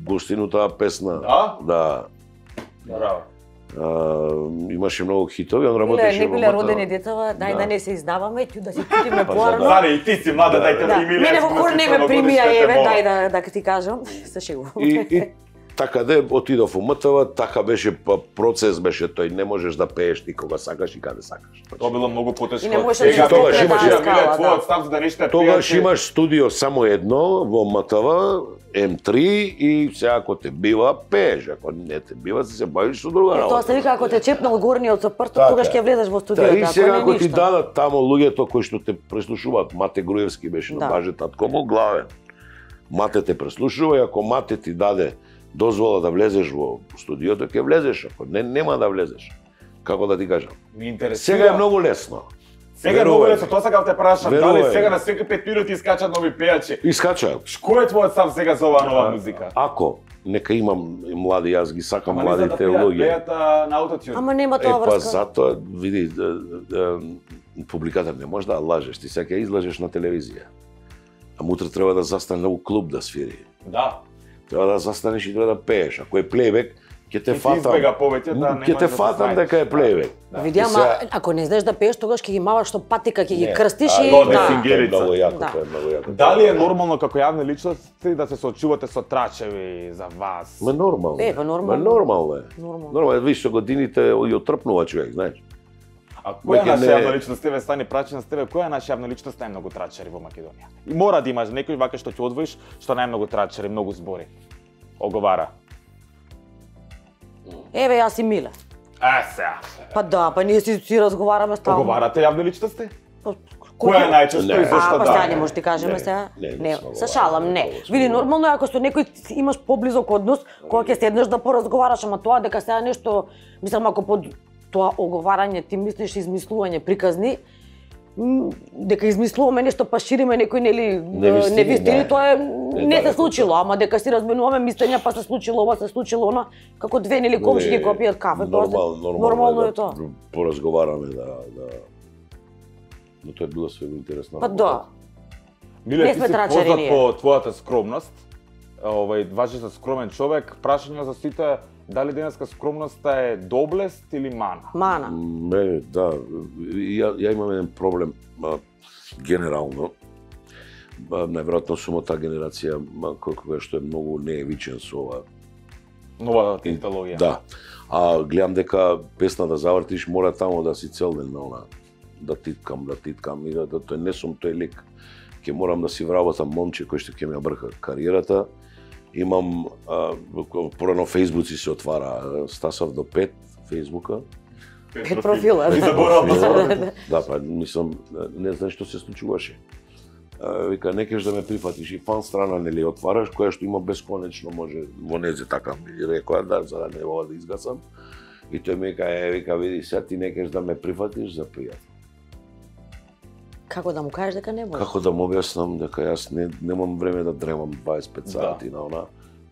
гостин таа песна. Да? Да. Браво. А, имаше многу хитови, он Биле, работеше не во биле Мата- родени децава, дај Да. да не се издаваме, ќе да си чутиме Па, поарно. за да. Заре, и ти си млада, Да, дај те Да, прими. мене во хор не ме примија, еве, дај да, да ти кажам, се шегувам. И, и така де отидов у МТВ, така беше па, процес беше тој, не можеш да пееш ни кога сакаш и каде сакаш. Тоа било многу потешко. И не можеш да Сега се тогаш скопира имаше- таа Биле скала, твојот да. став за да нешто Тогаш имаш студио само едно во МТВ, М три и сега ако те бива, пееш, ако не те бива, се бавиш со друга Тоа работа. се вика ако те чепнал горниот со прстот, Така тогаш е. ќе влезеш во Да, студиото, и ако сега не ако ти ништо. дадат тамо луѓето кои што те преслушуваат, Мате Груевски беше Да. на баже татко му главен. Мате те преслушува и ако Мате ти даде дозвола да влезеш во студиото, ќе влезеш, ако не, нема да влезеш. Како да ти кажам? Ми интересира. Сега е многу лесно. Сега е многу лесно, тоа сакав те прашам, Верувам. дали сега на секои пет минути искачат нови пејачи? Искачаат. Кој е твојот став сега за оваа нова музика? Ако нека имам и млади, јас ги сакам Ама не за да младите пеат, луѓе. пеат а, на аутотюн. Ама нема Е, тоа па врска. затоа, види, да, да, публиката не може да лажеш, ти сега ќе излажеш на телевизија. А мутре треба да застане у клуб да свири. Да. Треба да застанеш и треба да пееш. Ако е плейбек, ќе те Ќе ти фатам. избега повеќе да Ќе те немаш да фатам се дека е снајдеш. плейбек. Да. Види, И ама сега- ако не знаеш да пееш, тогаш ќе ги маваш што патика, ќе ги Не, крстиш а, и тоа не да. фингер. Тоа е многу јако, Да. тоа е многу јако. Дали е нормално како јавни личности да се соочувате со трачеви за вас? Ма нормално. Е, па нормално. Ма нормално е. Нормално. Нормално е, виж, со годините и отрпнува човек, знаеш. А која е Веќе наша не- јавна личност? Тебе стани прачена с тебе, која е наша јавна личност најмногу трачери во Македонија? И мора да имаш некој вака што ќе одвоиш, што најмногу трачери, многу збори. Оговара. Еве јас и Миле. Е, сега. Па да, па ние си, си разговараме стално. Оговарате јавни личности? Па, Која е најчесто Не. и зашто А, па да? сега не може ти кажеме Не, сега. не, не Не, сме се оговарали, шалам, не. не сме Види, оговарали. нормално е ако со некој ти имаш поблизок однос, кога ќе седнеш да поразговараш, ама тоа дека сега нешто, мислам ако под тоа оговарање ти мислиш измислување приказни, м, дека измислуваме нешто па шириме некој нели Невистини, невистини, да. тоа е Не, не се далеко случило, ама дека си разменуваме мислења, па се случило ова, се случило она, како две нели комши ги копијат кафе, тоа се- Нормално, нормално, нормално да е тоа. Поразговараме да да Но тоа е било свего интересно. Па да. Миле, Не ти сме си трачери познат ние. по твојата скромност. Овај, важиш за скромен човек. Прашање за сите, дали денеска скромноста е доблест или мана? Мана. Не, да, ја, ја имам еден проблем а, генерално. А, најверојатно сум од таа генерација ма, кој- која што е многу неевичен со ова. Нова технологија. Да. А гледам дека песна да завртиш мора таму да си цел ден на она, да титкам, да титкам и да, да тој не сум тој лик. Ќе морам да си вработам момче кој што ќе ми ја брка кариерата. Имам а, порано Фејсбуци се отвара, Стасов до пет Фејсбука. Пет профила. И заборав да Да, да, па мислам, не знаеш што се случуваше. А, Вика, не кеш да ме прифатиш и фан страна нели отвараш, која што има бесконечно може во незе така ми рекоа да за да не мога да изгасам. И тој ми вика, е, вика, види, сега ти не кеш да ме прифатиш за пријател. Како да му кажеш дека не може? Како да му објаснам дека јас не немам време да дремам дваесет и пет сати на она,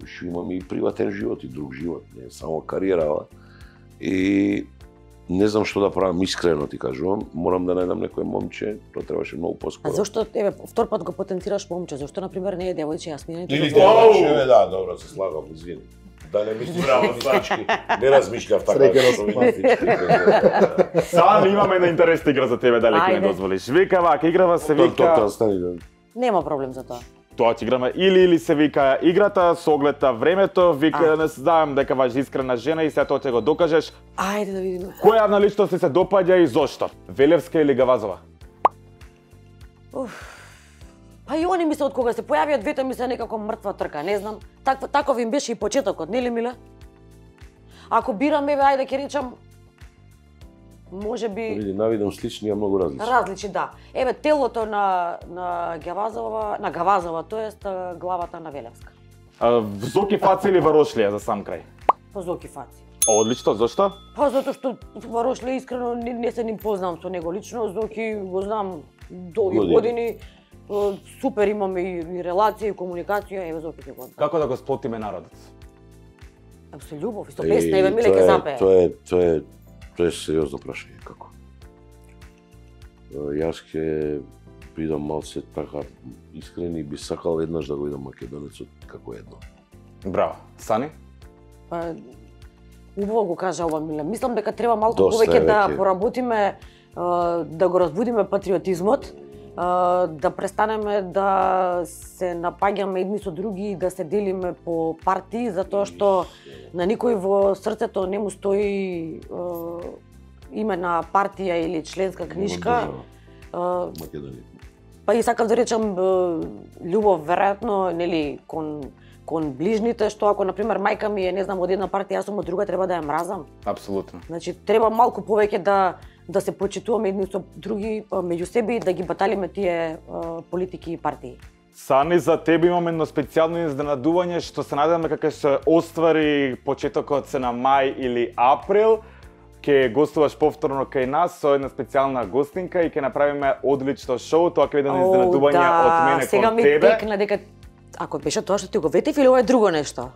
што имам и приватен живот и друг живот, не е само кариера. И не знам што да правам, искрено ти кажувам, морам да најдам некој момче, тоа требаше многу А поскоро. зошто еве втор пат го потенцираш момче? Зошто на пример не е девојче Јасмина? Или Оу! девојче, да, добро, се слагам, извини. Да не мислиш Браво, феминистички, не размишлјав така Среќен шовинистички. Сам имаме една интересна игра за тебе, дали ќе ми Ајде. дозволиш. Вика вака, играва се Тоа вика... тоа стани да. Нема проблем за тоа. Тоа ќе играме или или се вика играта со оглед на времето, вика А. не знаам дека ваш искрена жена и се тоа ќе го докажеш. Ајде да видиме. Која јавна личност ти се допаѓа и зошто? Велевска или Гавазова? Па и они ми се од кога се појавија двете ми се некако мртва трка, не знам. Таква таков им беше и почетокот, нели Миле? Ако бирам еве ајде ќе речам може би Види, навидам слични, а многу различни. различни, да. Еве телото на на Гавазова, на Гавазова, тоест а, главата на Велевска. А, Зоки Фаци или Варошлија за сам крај? По Зоки Фаци. Одлично, зошто? Па затоа што Варошле искрено не, не се ни познам со него лично, Зоки го знам долги Години. години. Е, Супер имаме и, и релација и комуникација, еве Зоки ќе го знам. Како да го сплотиме народот? Ем со љубов и со песна, еве Миле ќе запее. Тоа е, тоа е, тоа е сериозно прашање, како? Е, Јас ќе бидам малце така искрен и би сакал еднаш да го видам македонецот како едно. Браво. Сани? Па, убаво го кажа ова Миле. Мислам дека треба малку Доста повеќе е да веќе. поработиме, е, да го разбудиме патриотизмот, е, да престанеме да се напаѓаме едни со други и да се делиме по партии, затоа што на никој во срцето не му стои е, име на партија или членска книжка. Е, Македонија. Па и сакав да речам е, љубов веројатно нели кон кон ближните, што ако на пример мајка ми е не знам од една партија, јас сум од друга, треба да ја мразам. Апсолутно. Значи треба малку повеќе да да се почитуваме едни со други а, меѓу себе и да ги баталиме тие а, политики и партии. Сани, за тебе имаме едно специјално изненадување што се надеваме како се оствари почетокот се на мај или април. Ке гостуваш повторно кај нас со една специјална гостинка и ке направиме одлично шоу. Тоа ќе биде едно изненадување од мене сега кон ми тебе. текна дека ако беше тоа што ти го ветив или ова е друго нешто?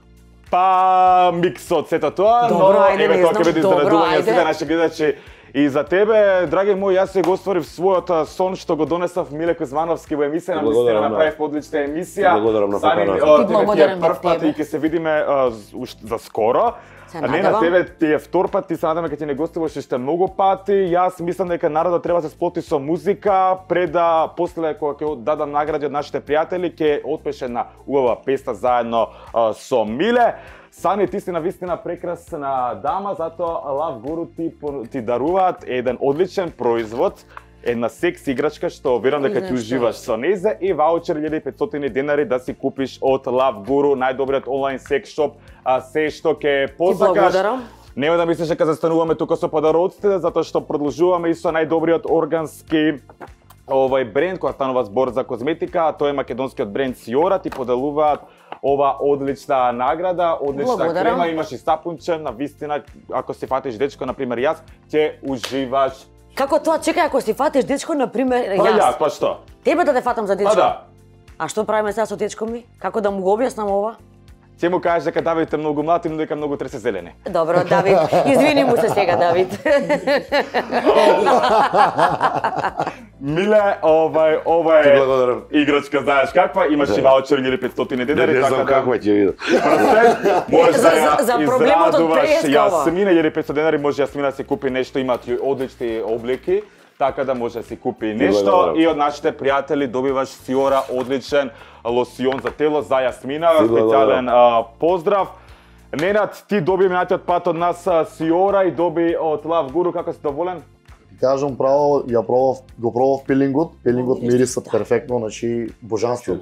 Па микс од сето тоа, Добро, но ајде, еве не тоа знам, ќе биде добро, изненадување ајде. сите наши гледачи. И за тебе, драги мој, јас се го остварив својот сон што го донесав Миле Кузмановски во емисија, на вистина направив одлична емисија. Благодарам на Сани, поканата. о, тебе ти е прв пат и ќе се видиме а, уште за скоро. Се А не на надевам. тебе ти е втор пат, ти се надаме кога ти не гостуваш уште многу пати. Јас мислам дека народот треба да се сплоти со музика, пред да после кога ќе дадам награди од нашите пријатели, ќе отпеше една убава песна заедно а, со Миле. Сани, ти си на вистина прекрасна дама, затоа Love Guru ти, ти даруваат еден одличен производ, една секс играчка што верувам дека ти уживаш со незе и ваучер илјада и петстотини денари да си купиш од Love Guru, најдобриот онлайн секс шоп, а се што ќе посакаш. Ти благодарам. Нема да мислиш дека застануваме тука со подароците, затоа што продолжуваме и со најдобриот органски овој бренд која станува збор за козметика, а тоа е македонскиот бренд Сиора, ти поделуваат ова одлична награда, одлична Благодарам. крема, имаш и сапунче, на вистина, ако си фатиш дечко, например јас, ќе уживаш. Како тоа, чекај, ако си фатиш дечко, например, Па јас, јас, па што? тебе да те фатам за дечко? Па да. А што правиме сега со дечко ми? Како да му го објаснам ова? Ќе му кажеш дека Давид е многу млад и му дека многу тресе зелени. Добро, Давид, извини му се сега, Давид. Миле, овај, ова Ти е благодарам. играчка, знаеш каква, имаш и ваучер илјада и петстотини денари, Не знам така да каква ќе видам. Прстен, можеш За- да ја за- за проблемот од израдуваш преска ова. Јасмина, илјада и петстотини денари може Јасмина да си купи нешто, имаат и одлични облеки, така да може да си купи нешто благодарам. и од нашите пријатели добиваш Сиора одличен лосион за тело за Јасмина, Ти специјален а, поздрав. Ненад, ти доби минатиот пат од нас а, Сиора и доби од Love Guru, како си доволен? Кажам право, ја пробав, го пробав пилингот, пилингот мириса перфектно, значи божанство.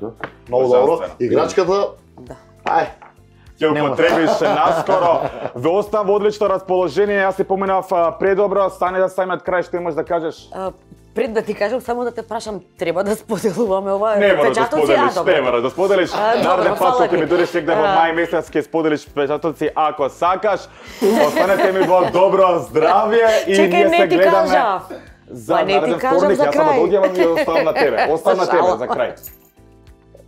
Многу добро. Божанствено. Играчката, Да. ај, Ќе Нема. употребиш наскоро. Ве оставам во одлично расположение. Јас си поминав а, предобро, стане да самиот крај што имаш да кажеш. А, Пред да ти кажам, само да те прашам, треба да споделуваме ова Не мора да печатоци? споделиш, А, добро. не мора да споделиш. А, добро, Нареден пат фала кога ќе ти. ми додеш негде во А. мај месец ќе споделиш печатоци ако сакаш. Останете ми во добро здравје и Чекај, ние не се ти гледаме. кажав. За Па не ти нареден кажав вторник, за јас сам крај. да одјавам и оставам на тебе. Оставам на тебе Шала. за крај.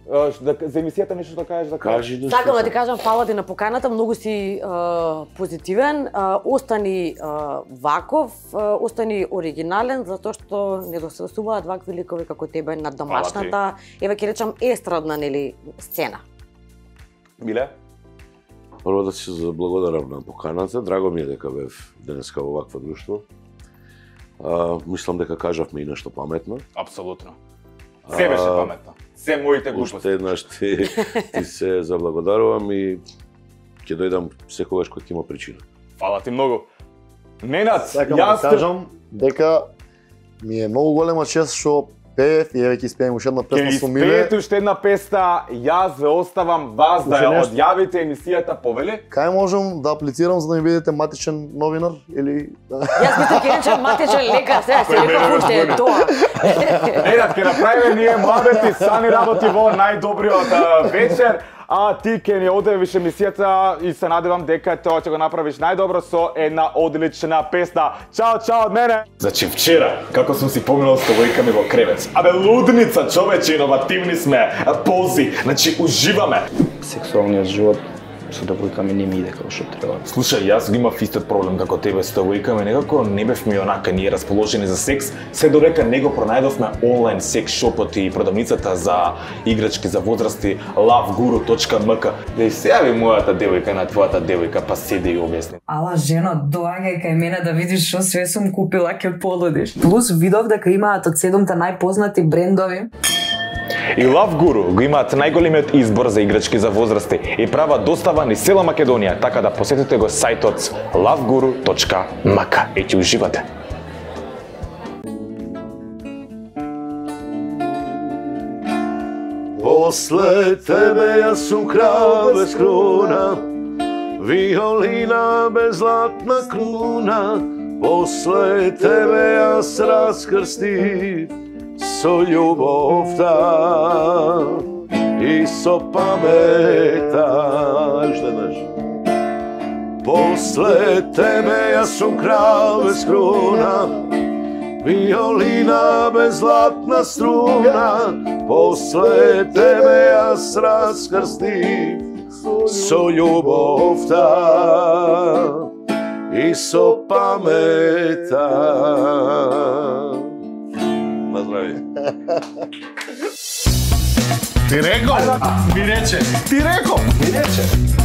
А, ш- да- За емисијата нешто да кажеш за крај. Кажи нешто. Сакам да ти кажам, фала ти на поканата, многу си а, позитивен, а, остани а, ваков, а, остани оригинален, затоа што не досетуваат вакви ликови како тебе на домашната, еве ќе речам естрадна, нели, сцена. Миле? Прво да се заблагодарам на поканата. Драго ми е дека бев денеска во вакво друштво. А, мислам дека кажавме и нешто паметно. Апсолутно. Се беше А, паметно. Се моите глупости. Уште еднаш ти, ти се заблагодарувам и ќе дојдам секогаш кога ќе има причина. Фала ти многу. Ненад, сакам да јас те- кажам дека ми е многу голема чест што пеев и еве ќе испеем уште една Ќе песна со Миле. испеете уште една песна, јас ве оставам вас да Уште ја нешто? одјавите емисијата, повели? Кај можам да аплицирам за да ми бидете матичен новинар или Јас мислам ќе речам матичен лекар, сега се реков уште е тоа. Ненад, ќе направиме ние младети, Сани работи во најдобриот а, вечер, а ти ќе ни одевиш емисијата и се надевам дека тоа ќе го направиш најдобро со една одлична песна. Чао, чао од мене! Значи вчера, како сум си поминал со војками во кревет. Абе лудница, човече, иновативни сме, пози, значи уживаме. Сексуалниот живот со девојками не ми иде како што треба. Слушај, јас го имав истиот проблем како тебе со девојками, некако не бевме онака ние расположени за секс, се додека не го пронајдовме онлайн секс шопот и продавницата за играчки за возрасти love guru точка m k. Да и се јави мојата девојка на твојата девојка, па седи и објасни. Ала, жено, доаѓај кај мене да видиш што све сум купила, ќе полудиш. Плюс видов дека имаат од седумте најпознати брендови. И Love Guru го имаат најголемиот избор за играчки за возрасти и прават достава низ цела Македонија, така да посетите го сајтот love guru точка m k и ќе уживате. После тебе јас сум крал без крона, виолина без златна круна. После тебе јас раскрстив со љубовта. и со памета. Уште еднаш. После тебе јас сум крал без круна, виолина без златна струна. После тебе јас раскрстив со љубовта и со памета. На здравје. Ти реков, ми рече. Ти реков, ми рече.